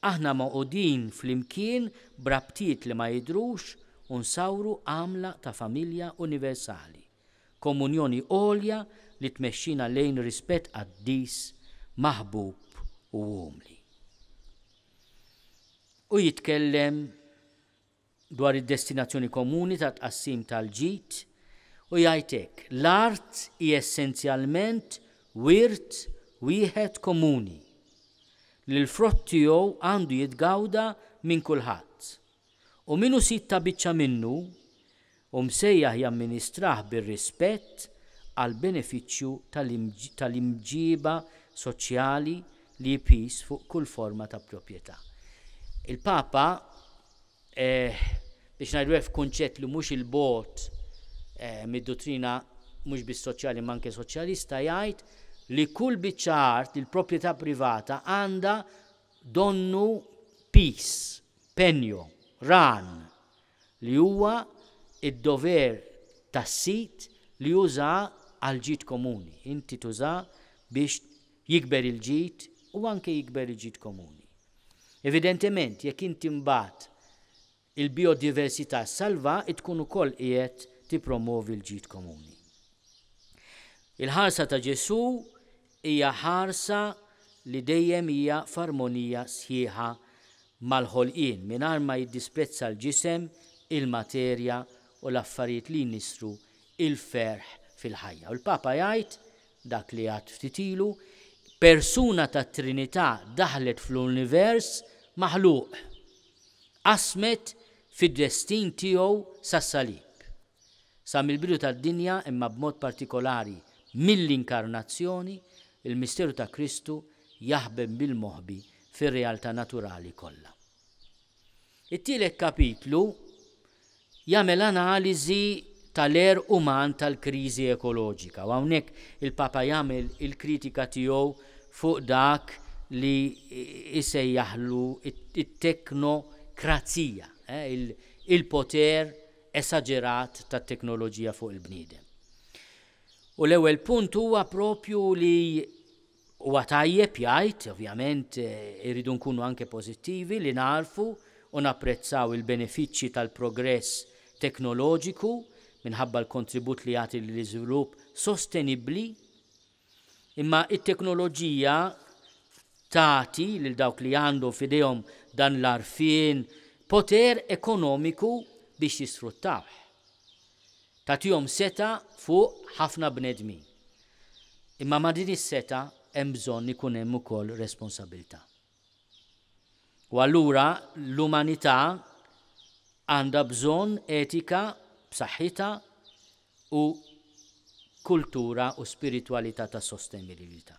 aħna magħqudin flimkien b'rabtiet li ma jidhrux u nsawru għamla ta' familja universali. Komunjoni għolja li tmexxina lejn rispett qaddis, maħbub u umli. U jitkellem dwar id-destinazzjoni komuni tat-tqassim tal-ġid u jgħid hekk, L-art hi essenzjalment wirt wieħed komuni, li l-frott tiegħu għandu jitgawda minn kulħadd. U min hu sid ta' biċċa minnu, hu msejjaħ jamministrah bir-rispett għall-benefiċċju tal-imġiba soċjali li jpiż fuq kull forma ta' proprjetà. Il-Papa, biex ngħidu hekk f'kunċett li mhux 'il bogħod mid-duttrina mhux biss soċjali imma anke soċjalista, jgħid li kull biċċa art, il-proprjetà privata għandha donnu piż, penjo, ran, li huwa d-dover tas-sid li juża għall-ġid komuni. Inti tuża biex jikber il-ġid u anke jikber il-ġid komuni. Evidentement, jekk inti mbagħad il-bijodiversità ssalva, tkun ukoll qiegħed tippromovi l-ġid komuni. Il-ħarsa ta' Ġesù hija ħarsa li dejjem hija f'armonija sħiħa mal-ħolqien, mingħajr ma jiddisprezza l-ġisem, il-materja u l-affarijiet li jnissru l-ferħ fil-ħajja. U l-Papa jgħid dak li għedt ftit ilu, persuna tat-Trinità daħlet fl-univers maħluq, qasmet fid-destin tiegħu sas-salib. Sa mill-bidu tad-dinja imma b'mod partikolari mill-Inkarnazzjoni, il-misteru ta' Kristu jaħbem bil-moħbi fir-realtà naturali kollha. It-tielet kapitlu jagħmel analiżi tal-għerq uman tal-kriżi ekoloġika u hawnhekk il-Papa jagħmel il-kritika tiegħu fuq dak li jsejjaħlu t-teknokrazija, il-poter esaġerat tat-teknoloġija fuq il-bniedem. U l-ewwel punt huwa propju li huwa tajjeb jgħid, ovvjament irridu nkunu anke pożittivi li nagħrfu u napprezzaw il-benefiċċji tal-progress teknoloġiku minħabba l-kontribut li jagħti lill-iżvilupp sostenibbli. Imma t-teknoloġija tagħti lil dawk li għandhom f'idejhom dan l-għarfien poter ekonomiku biex jisfruttawh. Tagħtihom setgħa fuq ħafna bnedmin. Imma ma' din is-setgħa hemm bżonn ikun hemm ukoll responsabilità. U allura l-umanità għandha bżonn etika b'saħħitha u kultura u spiritwalità ta' sostenibilità.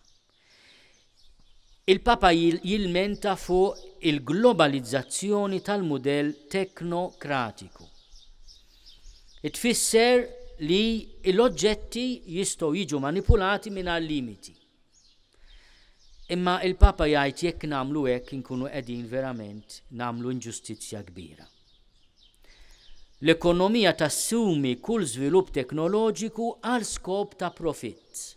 Il-Papa jilmenta fuq il-globalizzazzjoni tal-mudell teknokratiku. Tfisser li l-oġġetti jistgħu jiġu manipulati mingħajr limiti. Imma il-Papa jgħid jekk nagħmlu hekk inkunu qegħdin verament nagħmlu inġustizzja kbira. L-ekonomija tassumi kull żvilupp teknoloġiku għal skop ta' profitt.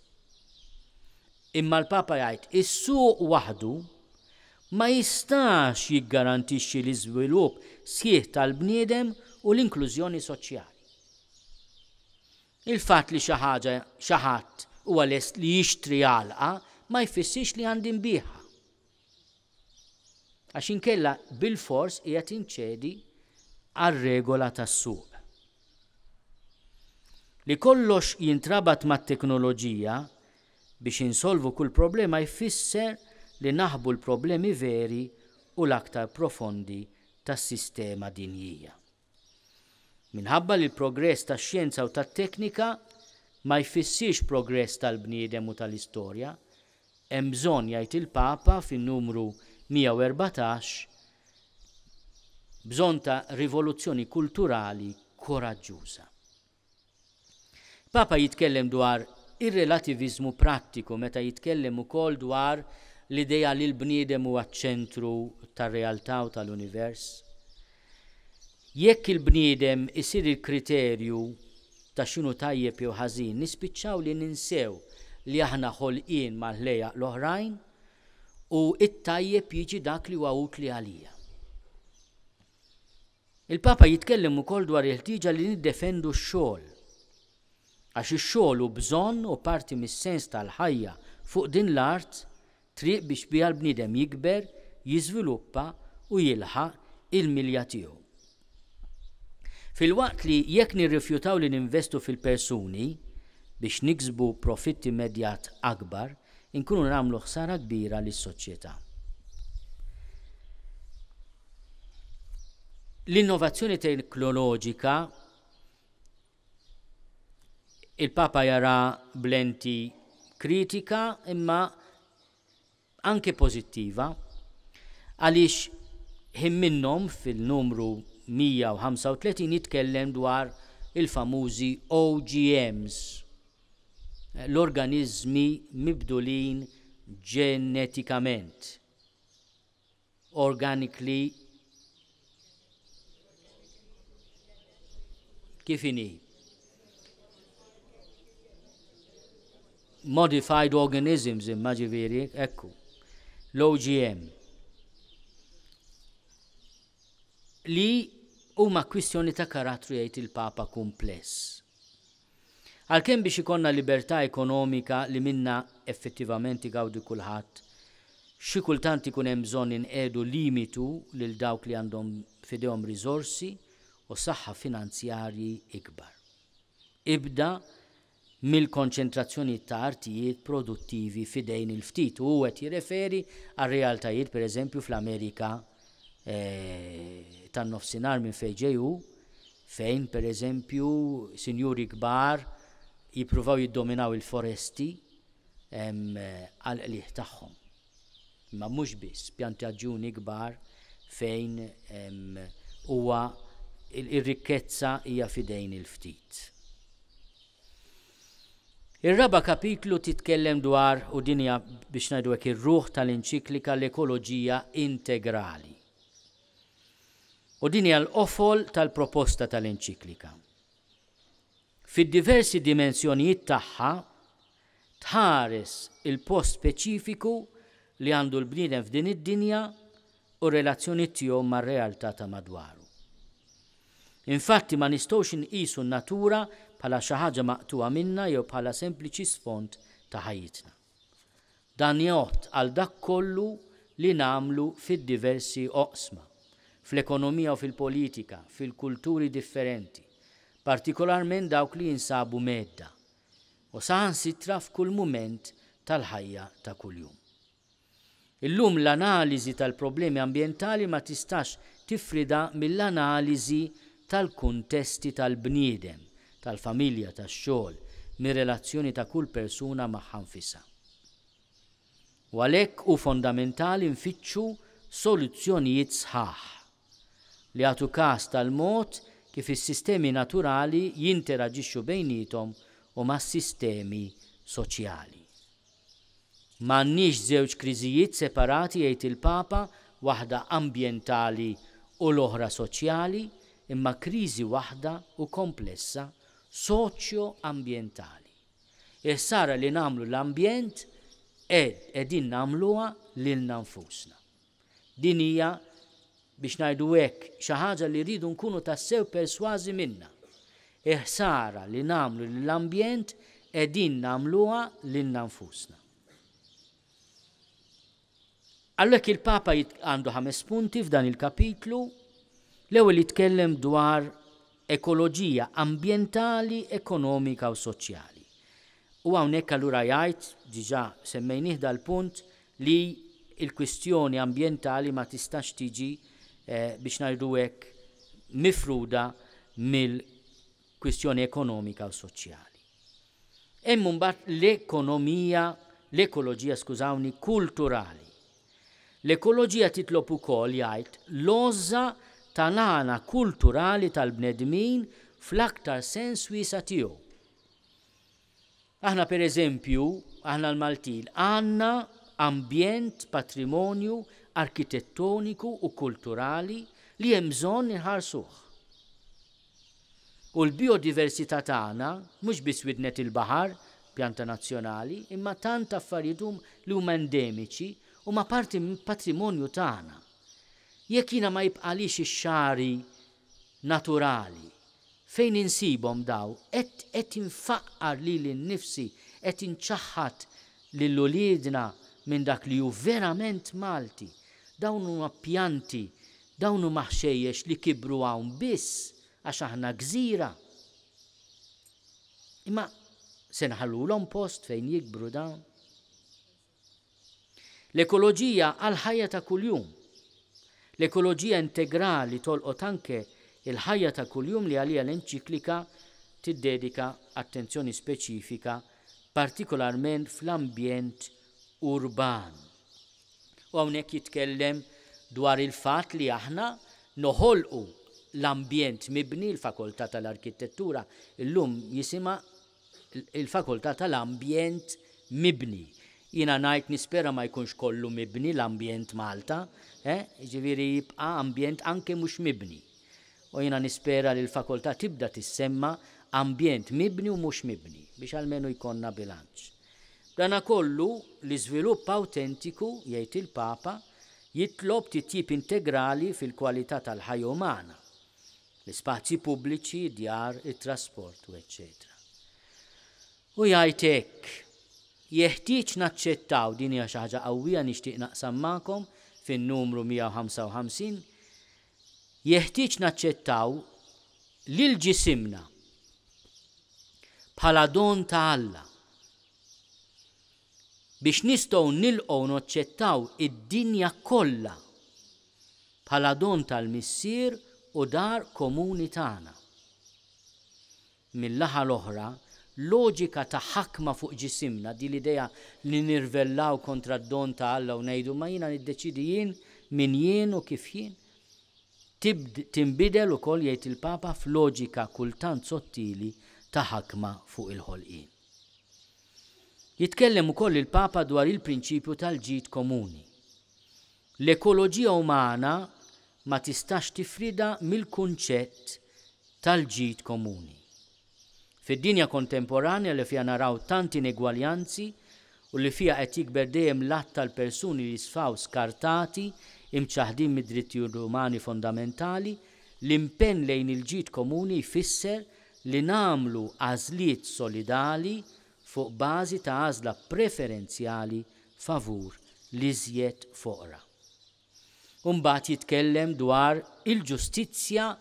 Imma l-Papa jgħid is-suq waħdu ma jistax jiggarantixxi l-iżvilupp sħiħ tal-bniedem u l-inklużjoni soċjali. Il-fatt li xi ħaġa, xi ħadd huwa lest li jixtri għalqa ma jfissirx li għandi nbigħha. Għax inkella bilfors qiegħed inċedi għar-regola tas-suq. Li kollox jintrabat mat-teknoloġija biex insolvu kull problema jfisser li naħbu l-problemi veri u l-aktar profondi tas-sistema dinjija. Minħabba li l-progress tax-xjenza u tat-teknika ma jfissirx progress tal-bniedem u tal-istorja, hemm bżonn, jgħid il-Papa fin-numru 114, bżonn ta' rivoluzzjoni kulturali koraġġuża. Papa jitkellem dwar ir-relativiżmu prattiku meta jitkellem ukoll dwar l-idea li l-bniedem huwa ċ-ċentru tar-realtà u tal-univers. Jekk il-bniedem isir il-kriterju ta' x'inhu tajjeb jew ħażin, nispiċċaw li ninsew li aħna ħolqien mal-ħlejjaq l-oħrajn u t-tajjeb jiġi dak li huwa utli għalija. Il-Papa jitkellem ukoll dwar il-ħtieġa li niddefendu x-xogħol. Għax ix-xogħol hu bżonn u parti mis-sens tal-ħajja fuq din l-art, triq biex biha l-bniedem jikber, jiżviluppa u jilħaq il-milja tiegħu. Filwaqt li jekk nirrifjutaw li ninvestu fil-persuni biex niksbu profitt immedjat akbar, inkunu nagħmlu ħsara kbira lis-soċjetà. L-innovazzjoni teknoloġika il-Papa jara b'lenti kritika imma anke pożittiva għaliex ħin minnhom fil-numru 135 jitkellem dwar il-famużi OGMs, l-organiżmi mibdulin ġenetikament. Organically kif inhi? Modified organisms imma ġifieri, ekku. L-OGM. Li huma kwistjoni ta' karattru jgħid il-Papa kumpless. Għalkemm biex ikollna libertà ekonomika li minnha effettivament igawdi kulħadd, xi kultant ikun hemm bżonn inqiegħdu limitu lil dawk li għandhom f'idejhom riżorsi u saħħa finanzjarji ikbar. Ibda mill-konċentrazzjonijiet ta' artijiet produttivi f'idejn il-ftit u hu qed jirreferi għar-realtajiet pereżempju fl-Amerika tan-Nofsinhar minn fejn ġej hu, fejn pereżempju sinjuri kbar jippruvaw jiddominaw il-foresti għall-qligħ tagħhom. Imma mhux biss, pjantaġġuni kbar fejn huwa ir-rikkezza hija f'idejn il-ftit. Ir-raba' kapitlu titkellem dwar, u din hija biex ngħidu hekk ir-ruħ tal-enċiklika, l-ekoloġija integrali. U din hija l-qofol tal-proposta tal-enċiklika. Fid-diversi dimensjonijiet tagħha tħares il-post speċifiku li għandu l-bniedem f'din id-dinja u r-relazzjoni tiegħu mar-realtà ta' madwaru. Infatti ma nistgħux inqisu n-natura bħala xi ħaġa maqtugħa minna jew bħala sempliċi sfond ta' ħajjitna. Dan jgħodd għal dak kollu li nagħmlu fid-diversi oqsma, fl-ekonomija u fil-politika, fil-kulturi differenti, partikolarment dawk li jinsabu mhedda, u saħansitra f'kull mument tal-ħajja ta' kuljum. Illum l-analiżi tal-problemi ambjentali ma tistax tifridha mill-analiżi tal-kuntesti tal-bniedem, tal-familja, tax-xogħol, mir-relazzjoni ta' kull persuna magħha nfisha. U għalhekk hu fondamentali nfittxu soluzzjonijiet sħaħ, li jagħtu każ tal-mod kif is-sistemi naturali jinteraġixxu bejniethom u mas-sistemi soċjali. M'għandniex żewġ kriżijiet separati, jgħid il-Papa, waħda ambjentali u l-oħra soċjali, imma kriżi waħda u komplessa soċjo-ambjentali. Il-ħsara li nagħmlu l-ambjent qegħdin nagħmluha lilna nfusna. Din hija, biex ngħidu hekk, xi ħaġa li rridu nkunu tassew persważi minnha. Il-ħsara li nagħmlu lill-ambjent qegħdin nagħmluha lilna nfusna. Għalhekk il-Papa għandu ħames punti f'dan il-kapitlu. L-ewwel jitkellem dwar ekoloġija ambjentali, ekonomika u soċjali. U hawnhekk allura jgħid, diġà semmejnih dal-punt, li l-kwistjoni ambjentali ma tistax tiġi, biex ngħidu hekk, mifruda mill-kwistjoni ekonomika u soċjali. Hemm imbagħad l-ekonomija, l-ekoloġija, skużawni, kulturali. L-ekoloġija titlob ukoll, jgħid, l-għożża tal-għana kulturali tal-bnedmin fl-aktar sens wiesa' tiegħu. Aħna per eżempju, aħna l-Maltin, għandna ambjent, patrimonju arkitettoniku u kulturali li hemm bżonn inħarsuh. U l-bijodiversità tagħna, mhux biss widnet il-baħar, pjanta nazzjonali, imma tant affarijiet hum li huma endemiċi, huma parti mill-patrimonju tagħna. Jekk jiena ma jibqagħlix ix-xagħri naturali, fejn insibhom daw, qed qed infaqqar lili nnifsi, qed inċaħħad lil uliedna minn dak li hu verament Malti. Dawn huma pjanti, dawn huma ħxejjex li kibru hawn biss għax aħna gżira. Imma se nħallulhom post fejn jikbru dawn? L-ekoloġija għall-ħajja ta' kuljum. L-ekoloġija integrali tolqot anke l-ħajja ta' kuljum li għaliha l-enċiklika tiddedika attenzjoni speċifika, partikolarment fl-ambjent urban. U hawnhekk jitkellem dwar il-fatt li aħna noħolqu l-ambjent mibni, il-Fakoltà tal-Arkitettura llum jisimha il-Fakoltà tal-Ambjent Mibni. Jiena ngħid nispera ma jkunx kollu mibni l-ambjent Malta, eh, jiġifieri jibqa' ambjent anke mhux mibni. U jiena nispera li l-fakoltà tibda tissemma ambjent mibni u mhux mibni biex almenu jkollna bilanċ. B'danakollu, l-iżvilupp awtentiku, jgħid il-Papa, jitlob titjib integrali fil-kwalità tal-ħajja umana, l-ispazji pubbliċi, id-djar, it-trasport u eċċetera. U jgħid hekk, Jeħtieġ naċċettaw, din hija xi ħaġa qawwija nixtieq naqsam magħkom fin-numru 155, jeħtieġ naċċettaw lil ġisimna bħala don ta' Alla biex nistgħu nilqgħu u noċċettaw id-dinja kollha bħala don tal-Missier u dar komuni tagħna. Min-naħa l-oħra, loġika ta' ħakma fuq ġisimna, din l-idea li nirvellaw kontra d-don ta' Alla u ngħidu ma jiena niddeċiedi jien min jien u kif jien, tibd tinbidel ukoll jgħid il-Papa f'loġika kultant sottili ta' ħakma fuq il-ħolqien. Jitkellem ukoll il-Papa dwar il-prinċipju tal-ġid komuni. L-ekoloġija umana ma tistax tifridha mill-kunċett tal-ġid komuni. Fid-dinja kontemporanja li fiha naraw tant inegwaljanzi u li fiha qed jikber dejjem l-għadd tal-persuni li jisfaw skartati, imċaħħdin mid-drittijiet umani fondamentali, l-impenn lejn il-ġid komuni jfisser li nagħmlu għażliet solidali fuq bażi ta' għażla preferenzjali favur l-iżjed foqra. U mbagħad jitkellem dwar il-ġustizzja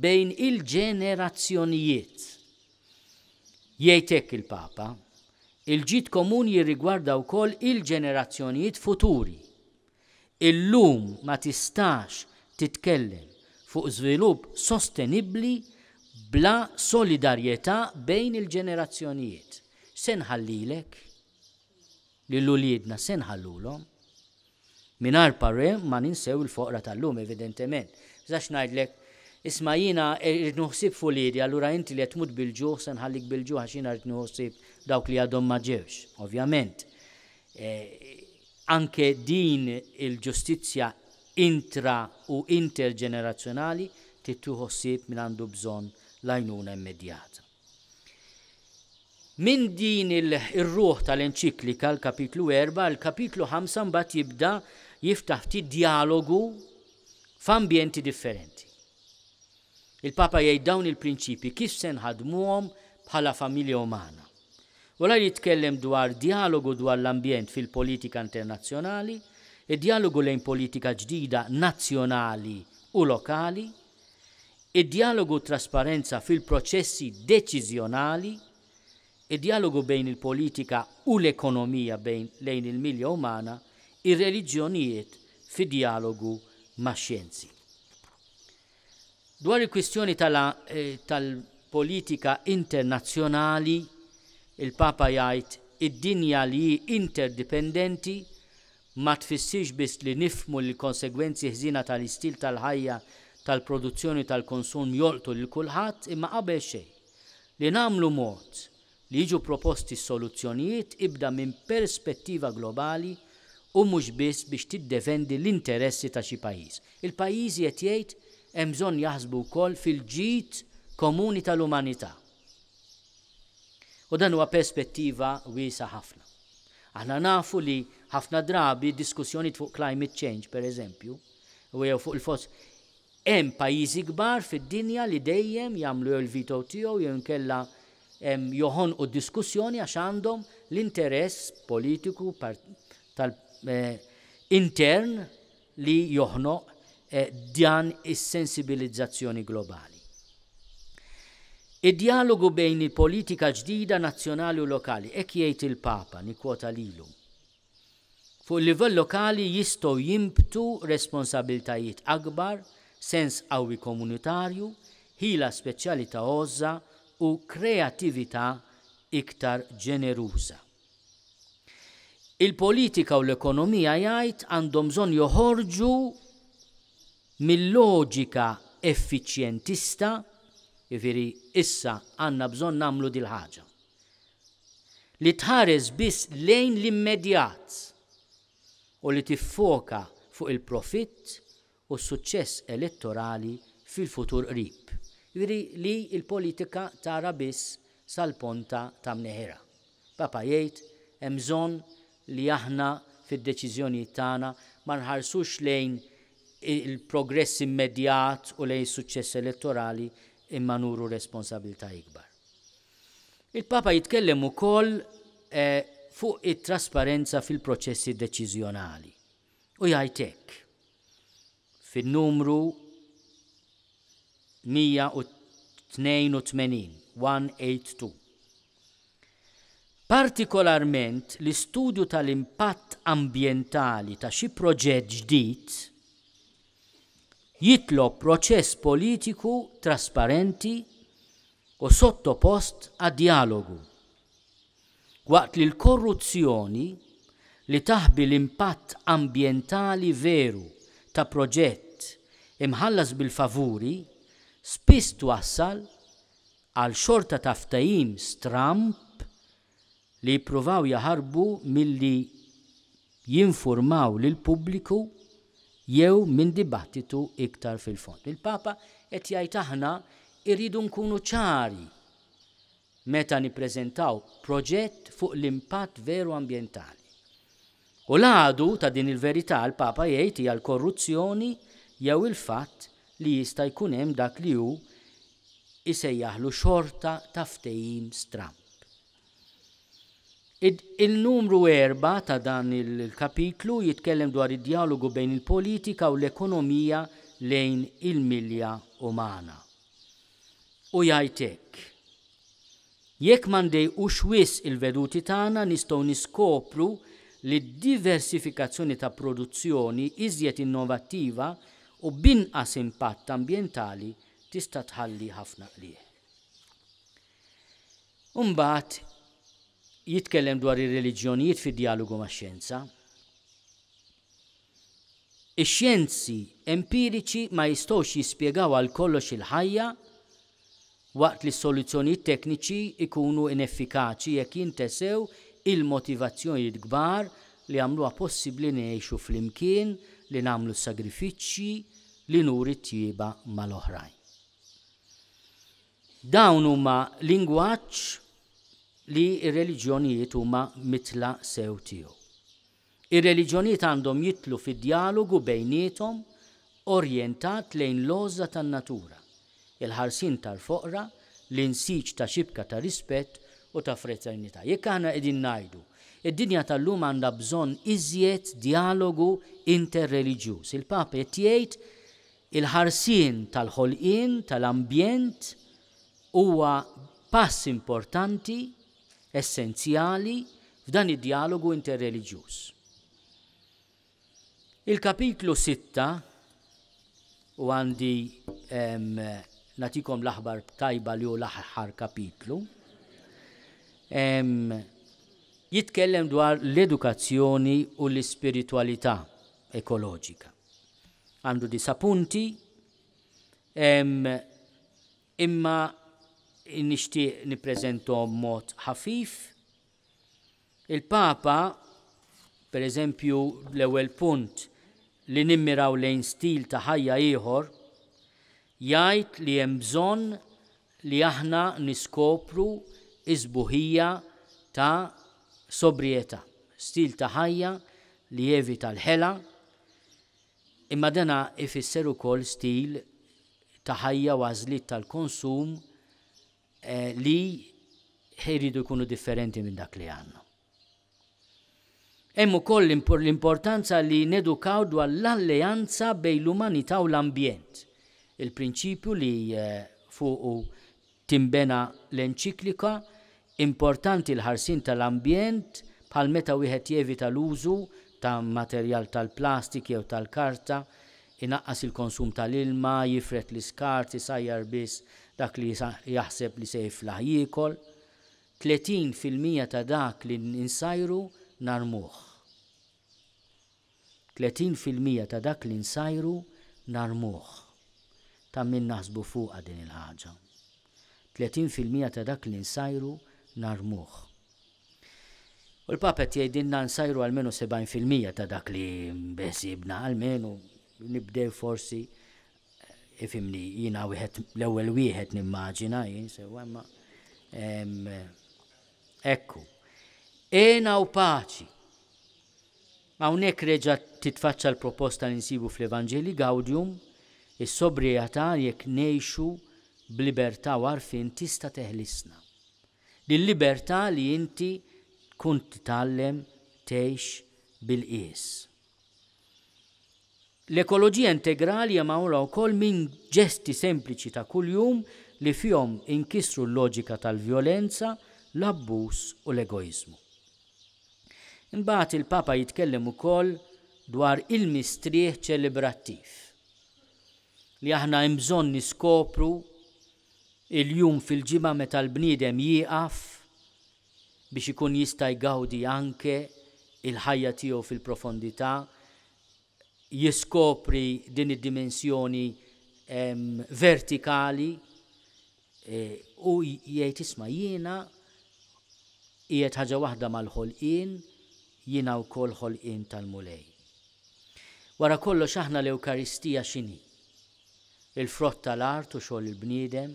bejn il-ġenerazzjonijiet. Jgħid hekk il-Papa, Il-ġid komuni jirrigwarda wkoll il-ġenerazzjonijiet futuri. Illum ma tistax titkellem fuq żvilupp sostenibbli bla solidarjetà bejn il-ġenerazzjonijiet. Se nħallilek? Lil uliedna se nħallulhom? Mingħajr parè ma ninsew il-foqra tal-lum, evidentement. Tistax ngħidlek, isma' jiena rrid nieħu ħsieb f'uliedi, allura inti li qed tmut bil-ġuħ se nħallik bil-ġuħ għax jiena rrid nieħu ħsieb dawk li għadhom ma ġewx. Ovvjament, anke din il-ġustizzja intra u interġenerazzjonali trid tieħu ħsieb min għandu bżonn l-għajnuna immedjata. Minn din ir-ruħ tal-enċiklika, l-kapitlu 4, il-kapitlu 5 mbagħad jibda jiftaħ ftit djalogu f'ambjenti differenti. Il-Papa jgħid dawn il-prinċipji kif se nħaddmuhom bħala familja umana. Wara li jitkellem dwar djalogu dwar l-ambjent fil-politika internazzjonali, id-djalogu lejn politika ġdida nazzjonali u lokali, id-djalogu u t-trasparenza fil-proċessi deċiżjonali, id-djalogu bejn il-politika u l-ekonomija bejn lejn il-milja umana, ir-reliġjonijiet fi djalogu max-xjenzi. Dwar il-kwistjoni tal-politika internazzjonali, il-Papa jgħid id-dinja li hi interdipendenti ma tfissirx biss li nifhmu li l-konsegwenzi ħżiena tal-istil tal-ħajja tal-produzzjoni u tal-konsum jolqtu lil kulħadd imma qabel xejn, li nagħmlu mod li jiġu proposti soluzzjonijiet ibda minn perspettiva globali u mhux biss biex tiddefendi l-interessi ta' xi pajjiż. Il-pajjiżi qed jgħid hemm bżonn jaħsbu wkoll fil-ġid komuni tal-umanità. U dan huwa perspettiva wiesgħa ħafna. Aħna nafu li ħafna drabi diskussjonijiet fuq climate change, per eżempju, u jew fuq il-fos, hemm pajjiżi kbar fid-dinja li dejjem jagħmlu jew il-veto tiegħu jew inkella joħonqu d-diskussjoni għax għandhom l-interess politiku tal eh, intern li joħnoq dan is-sensibilizzazzjoni globali. Id-djalogu bejn il-politika ġdida nazzjonali u lokali, hekk jgħid il-Papa, nikkwota lilu. Fuq il-livell lokali jistgħu jinbtu responsabiltajiet akbar, sens qawwi komunitarju, ħila speċjali ta' għożża u kreattività iktar ġeneruża. Il-politika u l-ekonomija jgħid għandhom bżonn joħorġu mil-loġika effiċjentista, jiġifieri issa għandna bżonn nagħmlu dil-ħaġa. li tħares biss lejn l-immedjat u li tiffoka fuq il-profitt u s-suċċess elettorali fil-futur qrib. Jiġifieri li l-politika tara biss sal-ponta ta' mneħirha. Papa jgħid hemm bżonn li aħna fid-deċiżjonijiet tagħna ma nħarsux lejn il-progress immedjat u lejn is-suċċess elettorali imma nuru responsabilità ikbar. Il-Papa jitkellem ukoll fuq it-trasparenza fil-proċessi deċiżjonali u jgħid hekk fin-numru 182, 182. Partikolarment l-istudju tal-impatt ambjentali ta' xi proġett ġdid jitlob proċess politiku trasparenti u sottopost għad-djalogu, waqt li l-korruzzjoni li taħbi l-impatt ambjentali veru ta' proġett imħallas bil-favuri spiss twassal għal xorta ta' ftehim stramb li jippruvaw jaħarbu milli jinfurmaw lill-pubbliku jew minn dibattitu iktar fil-fond. Il-Papa qed jgħid aħna rridu nkunu ċari meta nippreżentaw proġett fuq l-impatt veru ambjentali. U l-għadu ta' din il-verità l-Papa jgħid hija l-korruzzjoni jew il-fatt li jista' jkun hemm dak li hu isejjaħlu xorta ta' ftehim stramb. Il-numru 4 ta' dan il-kapitlu jitkellem dwar id-djalogu bejn il-politika u l-ekonomija lejn il-milja umana. U jgħid hekk, Jekk ma ndejqux wisq il-veduti tagħna nistgħu niskopru li d-diversifikazzjoni ta' produzzjoni iżjed innovattiva u b'inqas impatt ambjentali tista' tħalli ħafna qligħ. U mbagħad jitkellem dwar ir-reliġjonijiet fid-djalogu max-xjenza. Ix-xjenzi empiriċi ma jistgħux jispjegaw għal kollox il-ħajja waqt li s-soluzzjonijiet tekniċi jkunu ineffikaċi jekk jintesew il-motivazzjonijiet kbar li jagħmluha possibbli li ngħixu flimkien, li nagħmlu s-sagrifiċċji, li nuri t-tjieba mal-oħrajn. Dawn huma lingwaġġ li r-reliġjonijiet huma mitla sew tiegħu. Ir-reliġjonijiet għandhom jidħlu fi djalogu bejniethom orjentat lejn l-għożża tan-natura, il-ħarsien tal-foqra, l-insiġ ta' xibka ta' rispett u ta' fraternità. Jekk aħna qegħdin ngħidu, id-dinja tal-lum għandha bżonn iżjed djalogu interreliġjuż. Il-Papa qed jgħid il-ħarsien tal-ħolqien, tal-ambjent huwa pass importanti essenzjali f'dan id-djalogu interreliġjuż. Il-kapitlu 6, u għandi nagħtikom l-aħbar tajba li hu l-aħħar kapitlu, jitkellem dwar l-edukazzjoni u l-ispiritwalità ekoloġika. Għandu disa' punti, Imma nixtieq nippreżenthom b'mod ħafif. Il-Papa, per eżempju, l-ewwel punt li nimmiraw lejn stil ta' ħajja ieħor, jgħid li hemm bżonn li aħna niskopru s-sbuħija ta' sobrietà, stil ta' ħajja li jevita l-ħela, Imma dana ifisser ukoll stil ta' ħajja u għażliet tal-konsum li jridu jkunu differenti minn dak li għandna. Hemm ukoll l-importanza li nedukaw dwar l-alleanza bejn l-umanità u l-ambjent, il-prinċipju li fuqu Tinbena l-enċiklika, Importanti l-ħarsien tal-ambjent bħal meta wieħed jevita l-użu ta' materjal tal-plastik jew tal-karta, inaqqas il-konsum tal-ilma, jifred l-iskart, isajjar biss dak li jaħseb li se jiflaħ jiekol. 30% ta' dak li nsajru narmuh. 30% ta' dak li nsajru narmuh. Ta' min naħsbu fuqha din il-ħaġa. 30% ta' dak li nsajru narmuh. U l-Papa qed jgħidilna nsajru almenu 70% ta' dak li beħsiebna, almenu nibdew forsi, ifhimni, jiena wieħed l-ewwel wieħed nimmaġina jien sewwa imma ekku. Hena u paċi. Hawnhekk reġa' titfaċċa l-proposta li nsibu fl-Evangelii Gaudium, is-sobrjetà jekk ngħixu b'libertà u għarfien tista' teħlisna. Dil-libertà li inti tkun titgħallem tgħix bil-qies. L-ekoloġija integrali hija magħmula wkoll minn ġesti sempliċi ta' kuljum li fihom inkissru l-loġika tal-vjolenza, l-abbuż u l-egoiżmu. Imbagħad il-Papa jitkellem ukoll dwar il-mistrieħ ċelebrattiv, li aħna hemm bżonn niskopru il-jum fil-ġimgħa meta l-bniedem jieqaf biex ikun jista' jgawdi anke l-ħajja tiegħu fil-profondità, jiskopri din id-dimensjoni vertikali u jgħid isma' jiena qiegħed ħaġa waħda mal-ħolqien, jiena wkoll ħolqien tal-Mulej. Wara kollox aħna l-Ewkaristija x'inhi? Il-frott tal-art u xogħol il-bniedem,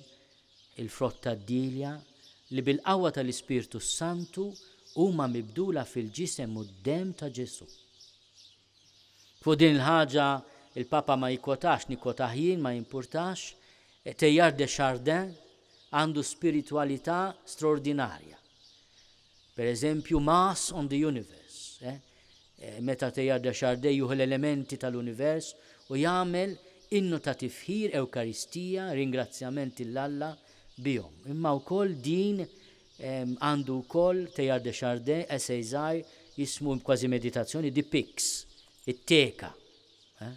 il-frott tad-dielja, li bil-qawwa tal-Ispirtu s-Santu huma mibdula fil-ġisem u d-demm ta' Ġesù. Fuq din il-ħaġa il-Papa ma jikkwotax, nikkwotah jien, ma jimpurtax, Teilhard de Chardin għandu spiritwalità straordinarja. Per eżempju, Mass on the Universe, eh? Meta Teilhard de Chardin jieħu l-elementi tal-univers u jagħmel innu ta' tifħir, Ewkaristija, ringrazzjament 'il Alla bihom. Imma wkoll din għandu wkoll Teilhard de Chardin essay żgħir jismu kważi meditazzjoni The Pyx, it-teka. Eh?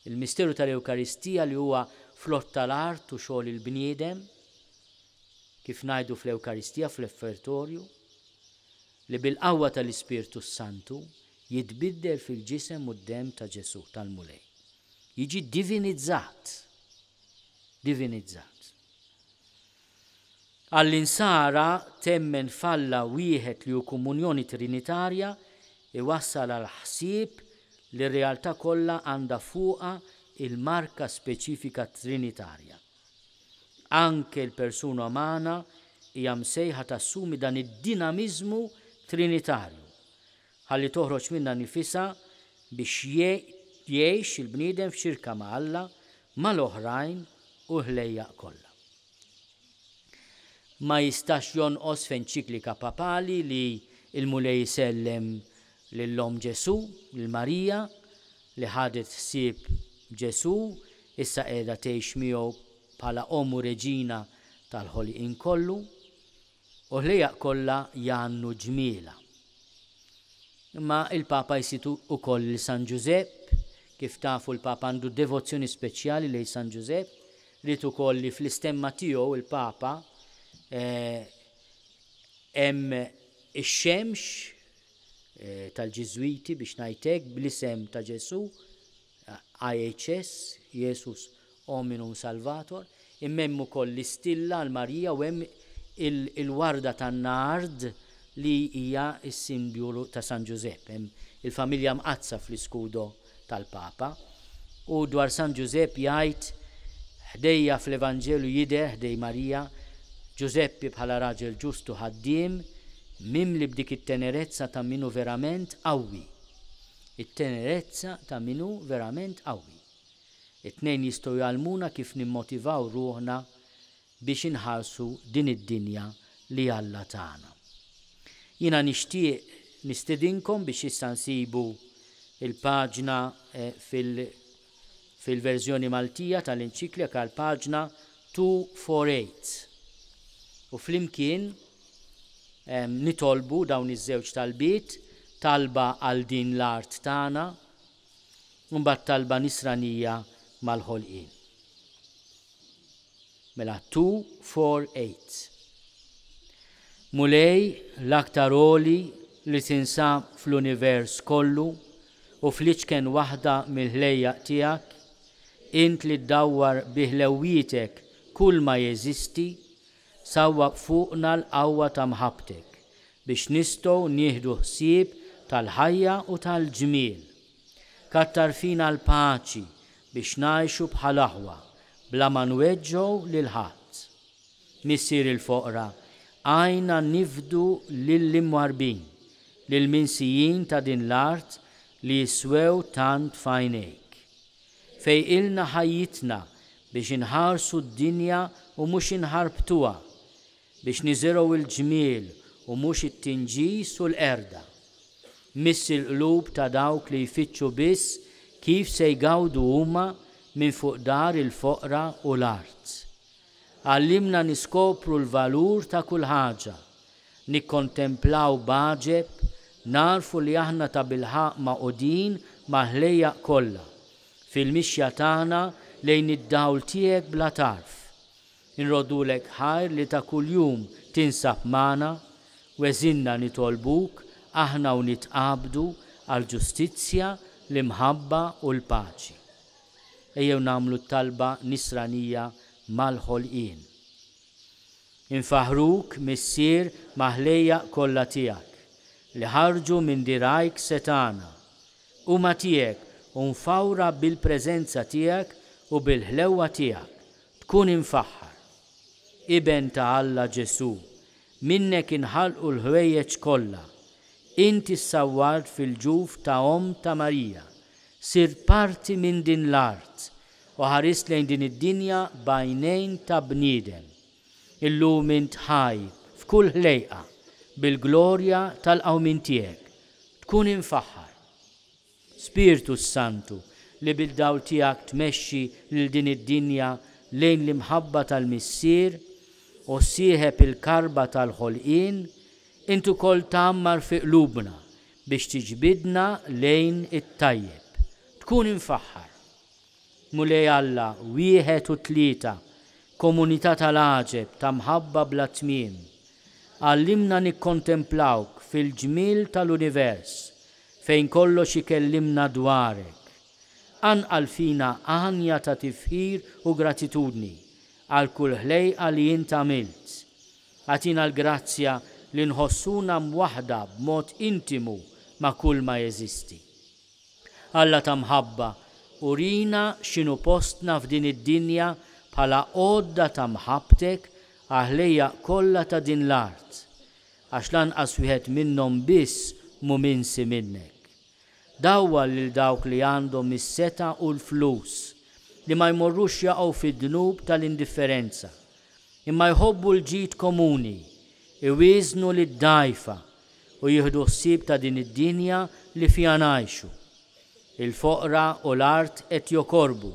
Il-misteru tal-Ewkaristija li huwa frott tal-art u xogħol il-bniedem, kif ngħidu fl-Ewkaristija fl-Offertorju, li bil-qawwa tal-Ispirtu s-Santu jitbiddel fil-ġisem u d-demm ta' Ġesù, tal-Mulej. Jiġi divinizzat. Divinizzat. Għall-Insara temmen f'Alla wieħed li hu komunjoni trinitarja iwassal għall-ħsieb li r-realtà kollha għandha fuqha il-marka speċifika trinitarja. Anke l-persuna umana hija msejħa tassumi dan id-dinamiżmu trinitarju, ħalli toħroġ minnha nifisha biex jgħix il-bniedem f'xirka ma' Alla, mal-oħrajn u l-ħlejjaq kollha. Ma jistax jonqos f'enċiklika papali li l-Mulej isellem lil Omm Ġesù, lil Marija, li ħadet ħsieb Ġesù, issa qiegħda tgħix miegħu bħala Omm u Reġina tal-ħolqien kollu, u l-ħlejjaq kollha jgħannu ġmielha. Imma il-Papa jsid ukoll lil San Ġużepp, kif tafu l-Papa għandu devozzjoni speċjali lejn San Ġużepp, ried ukoll li fl-istemma tiegħu il-Papa hemm ix-xemx tal-Ġiżwiti biex ngħid hekk bl-isem ta' Ġesù, IHS, Jesus Hominum Salvator, imma hemm ukoll l-istilla għal Marija u hemm il-warda tan-nard li hija s-simbolu ta' San Ġużepp. Hemm il-familja mqaddsa fl-iskudo tal-Papa. U dwar San Ġużepp jgħid, Ħdejja fl-Evanġelju jidher, ħdej Marija, Ġużeppi bħala raġel ġust u ħaddiem, mimli b'dik it-tenerezza ta' min hu verament qawwi. It-tenerezza ta' min hu verament qawwi. It-tnejn jistgħu jgħallmuna kif nimmotivaw ruħna biex inħarsu din id-dinja li Alla tana. Jiena nixtieq nistedinkom biex issa nsibu l-paġna fil-verżjoni Maltija tal-enċiklika l-paġna 248 u flimkien nitolbu dawn iż-żewġ talbiet, talba għal din l-art tagħna u mbagħad talba nisranija mal-ħolqien. Mela 248. Mulej l-aktar għoli li tinsab fl-univers kollu u fl-iċken waħda mill-ħlejjaq tiegħek, int li ddawwar bi ħlewwietek kull ma jeżisti, sawwab fuqna l-qawwa ta' mħabbtek. biex nistgħu nieħdu ħsieb tal-ħajja u tal-ġmiel. Kattar fina l-paċi biex ngħixu bħal aħwa bla ma nweġġgħu lil ħadd. Missier il-foqra, għinna nifdu lill-imwarrbin, lill-minsijin ta' din l-art li jiswew tant f'għajnejk. Fejqilna ħajjitna biex inħarsu d-dinja u mhux inħarbtuha, biex niżirgħu l-ġmiel u mhux it-tinġis u l-qerda. Miss il-qlub ta' dawk li jfittxu biss kif se jgawdu huma minn fuq dar il-foqra u l-art. Għallimna niskopru l-valur ta' kull ħaġa, nikkontemplaw b'għaġeb, nagħrfu li aħna tabilħaqq magħqudin mal-ħlejjaq kollha, fil-mixja tagħna lejn id-dawl tiegħek bla tarf. Inroddulek ħajr li ta' kuljum tinsab magħna, weżinna nitolbuk aħna u nitqabdu għall-ġustizzja, l-imħabba u l-paċi. Ejjew nagħmlu t-talba nisranija mal-ħolqien. Infaħħruk, Missier, ma' ħlejjaq kollha tiegħek, li ħarġu minn dirgħajk setgħana. Huma tiegħek u mfawra bil-preżenza tiegħek u bil-ħlewwa tiegħek. Tkun imfaħħar. Iben ta' Alla Ġesù, minnek inħalqu l-ħwejjeġ kollha. Inti ssawwart fil-ġuf ta' omm ta' Marija, sirt parti minn din l-art u ħarist lejn din id-dinja b'għajnejn ta' bniedem. Illum int ħaj f'kull ħlejqa bil-glorja tal-qawmien tiegħek. Tkun imfaħħar. Spirtu s-Santu, li bid-dawl tiegħek tmexxi lil din id-dinja lejn l-imħabba tal-Missier u ssieħeb il-karba tal-ħolqien, int ukoll tgħammar fi qlubna biex tiġbidna lejn it-tajjeb. Tkun imfaħħar. Mulej Alla, wieħed u tlieta, komunità tal-għaġeb ta' mħabba bla tmiem, għallimna nikkontemplawk fil-ġmiel tal-univers fejn kollox ikellimna dwarek. Qanqal fina għanja ta' tifħir u gratitudni għal kull ħlejqa li int għamilt. Agħtina l-grazzja li nħossuna mwaħħda b'mod intimu ma' kulma jeżisti. Alla ta' mħabba, urina x'inhu postna f'din id-dinja bħala għodda ta' mħabbtek għall-ħlejjaq kollha ta' din l-art, għax lanqas wieħed minnhom biss mhu minsi minnek. Dawwar lil dawk li għandhom is-setgħa u l-flus, li ma jmorrux jaqgħu fid-dnub tal-indifferenza, imma jħobbu l-ġid komuni, iwieżnu lid-dgħajfa u jieħdu ħsieb ta' din id-dinja li fiha ngħixu. Il-foqra u l-art qed jokorbu.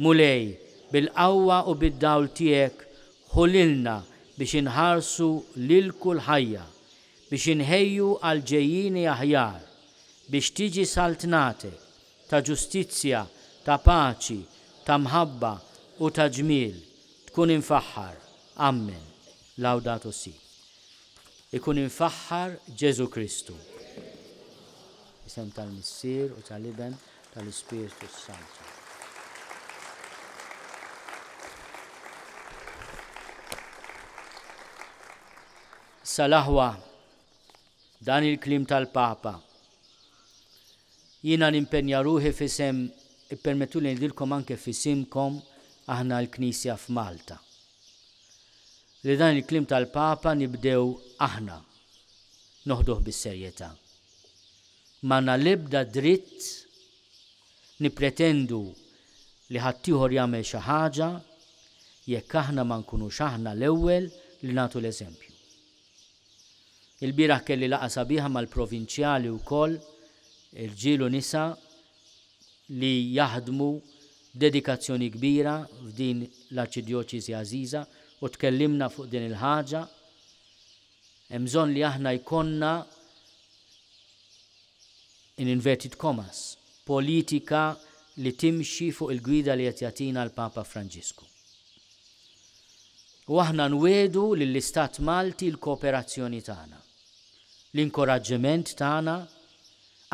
Mulej, bil-qawwa u bid-dawl tiegħek ħu lilna biex inħarsu lil kull ħajja, biex inħejju għal ġejjieni aħjar, biex tiġi saltnatek, ta' ġustizzja, ta' paċi, ta' mħabba u ta' ġmiel, tkun imfaħħar. Ammen. Laudato si. Ikun imfaħħar Ġesù Kristu. Isem tal-Missier u tal-Iben tal-Ispirtu s-Santu. Sal-aħwa, dan il-kliem tal-Papa. Jiena nimpenja ruħi f'isem, ippermettuli ngħidilkom anke f'isimkom aħna l-Knisja f'Malta. Li dan il-kliem tal-Papa nibdew aħna noħduh bis-serjetà. M'għandna l-ebda dritt nippretendu li ħaddieħor jagħmel xi ħaġa jekk aħna ma nkunux aħna l-ewwel li nagħtu l-eżempju. Ilbieraħ kelli laqgħa sabiħa mal-provinċjali wkoll, irġiel u nisa, li jaħdmu b'dedikazzjoni kbira f'din l-Arċidjoċesi għażiża u tkellimna fuq din il-ħaġa. Hemm bżonn li aħna jkollna in inverted commas, politika li timxi fuq il-gwida li qed jagħtina l-Papa Franġisku. U aħna nwiegħdu lill-Istat Malti l-kooperazzjoni tagħna, l-inkoraġġiment tagħna,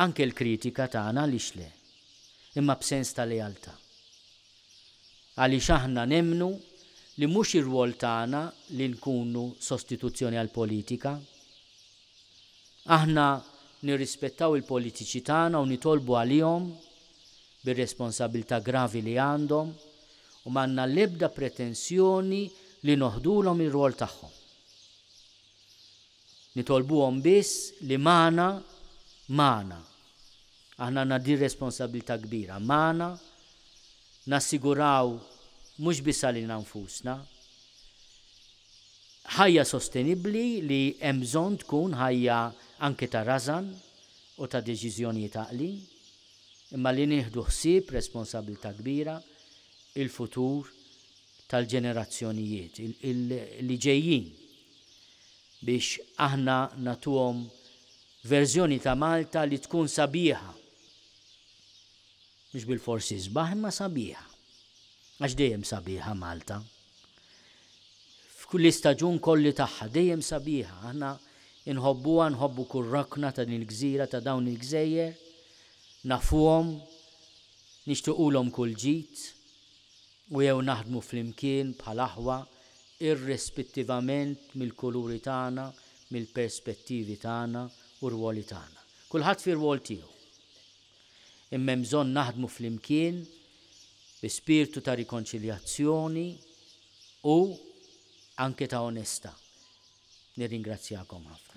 anke l-kritika tagħna għaliex le, imma b'sens ta' lealtà. Għaliex aħna nemmnu li mhux ir-rwol tagħna li nkunu sostituzzjoni għall-politika. Aħna nirrispettaw il-politiċi tagħna u nitolbu għalihom bir-responsabilità gravi li għandhom u m'għandna l-ebda pretensjoni li noħdulhom ir-rwol tagħhom. Nitolbuhom biss li magħna, magħna, aħna għandna din responsabilità kbira, magħna nassiguraw mhux biss għalina nfusna, ħajja sostenibbli li hemm bżonn tkun ħajja anke ta' rażan u ta' deċiżjonijiet għaqlin, imma li nieħdu ħsieb responsabilità kbira il-futur tal-ġenerazzjonijiet li ġejjin biex aħna nagħtuhom verżjoni ta' Malta li tkun sabiħa. Mhux bilfors isbaħ imma sabiħa. Għax dejjem sabiħa Malta. Fl-istaġun kolli tagħha dejjem sabiħa. Aħna inħobbuha, nħobbu kull rokna ta' din il-gżira ta' dawn il-gżejjer, nafuhom, nixtiequlhom kull ġid u jew naħdmu flimkien bħal aħwa irrispettivament mill-kuluri tagħna, mill-perspettivi tagħna u r-rwoli tagħna. Kulħadd fir-rwol tiegħu. Imma hemm bżonn naħdmu flimkien bi spirtu ta' rikonċiljazzjoni u anke ta' onestà. Nirringrazzjakom ħafna.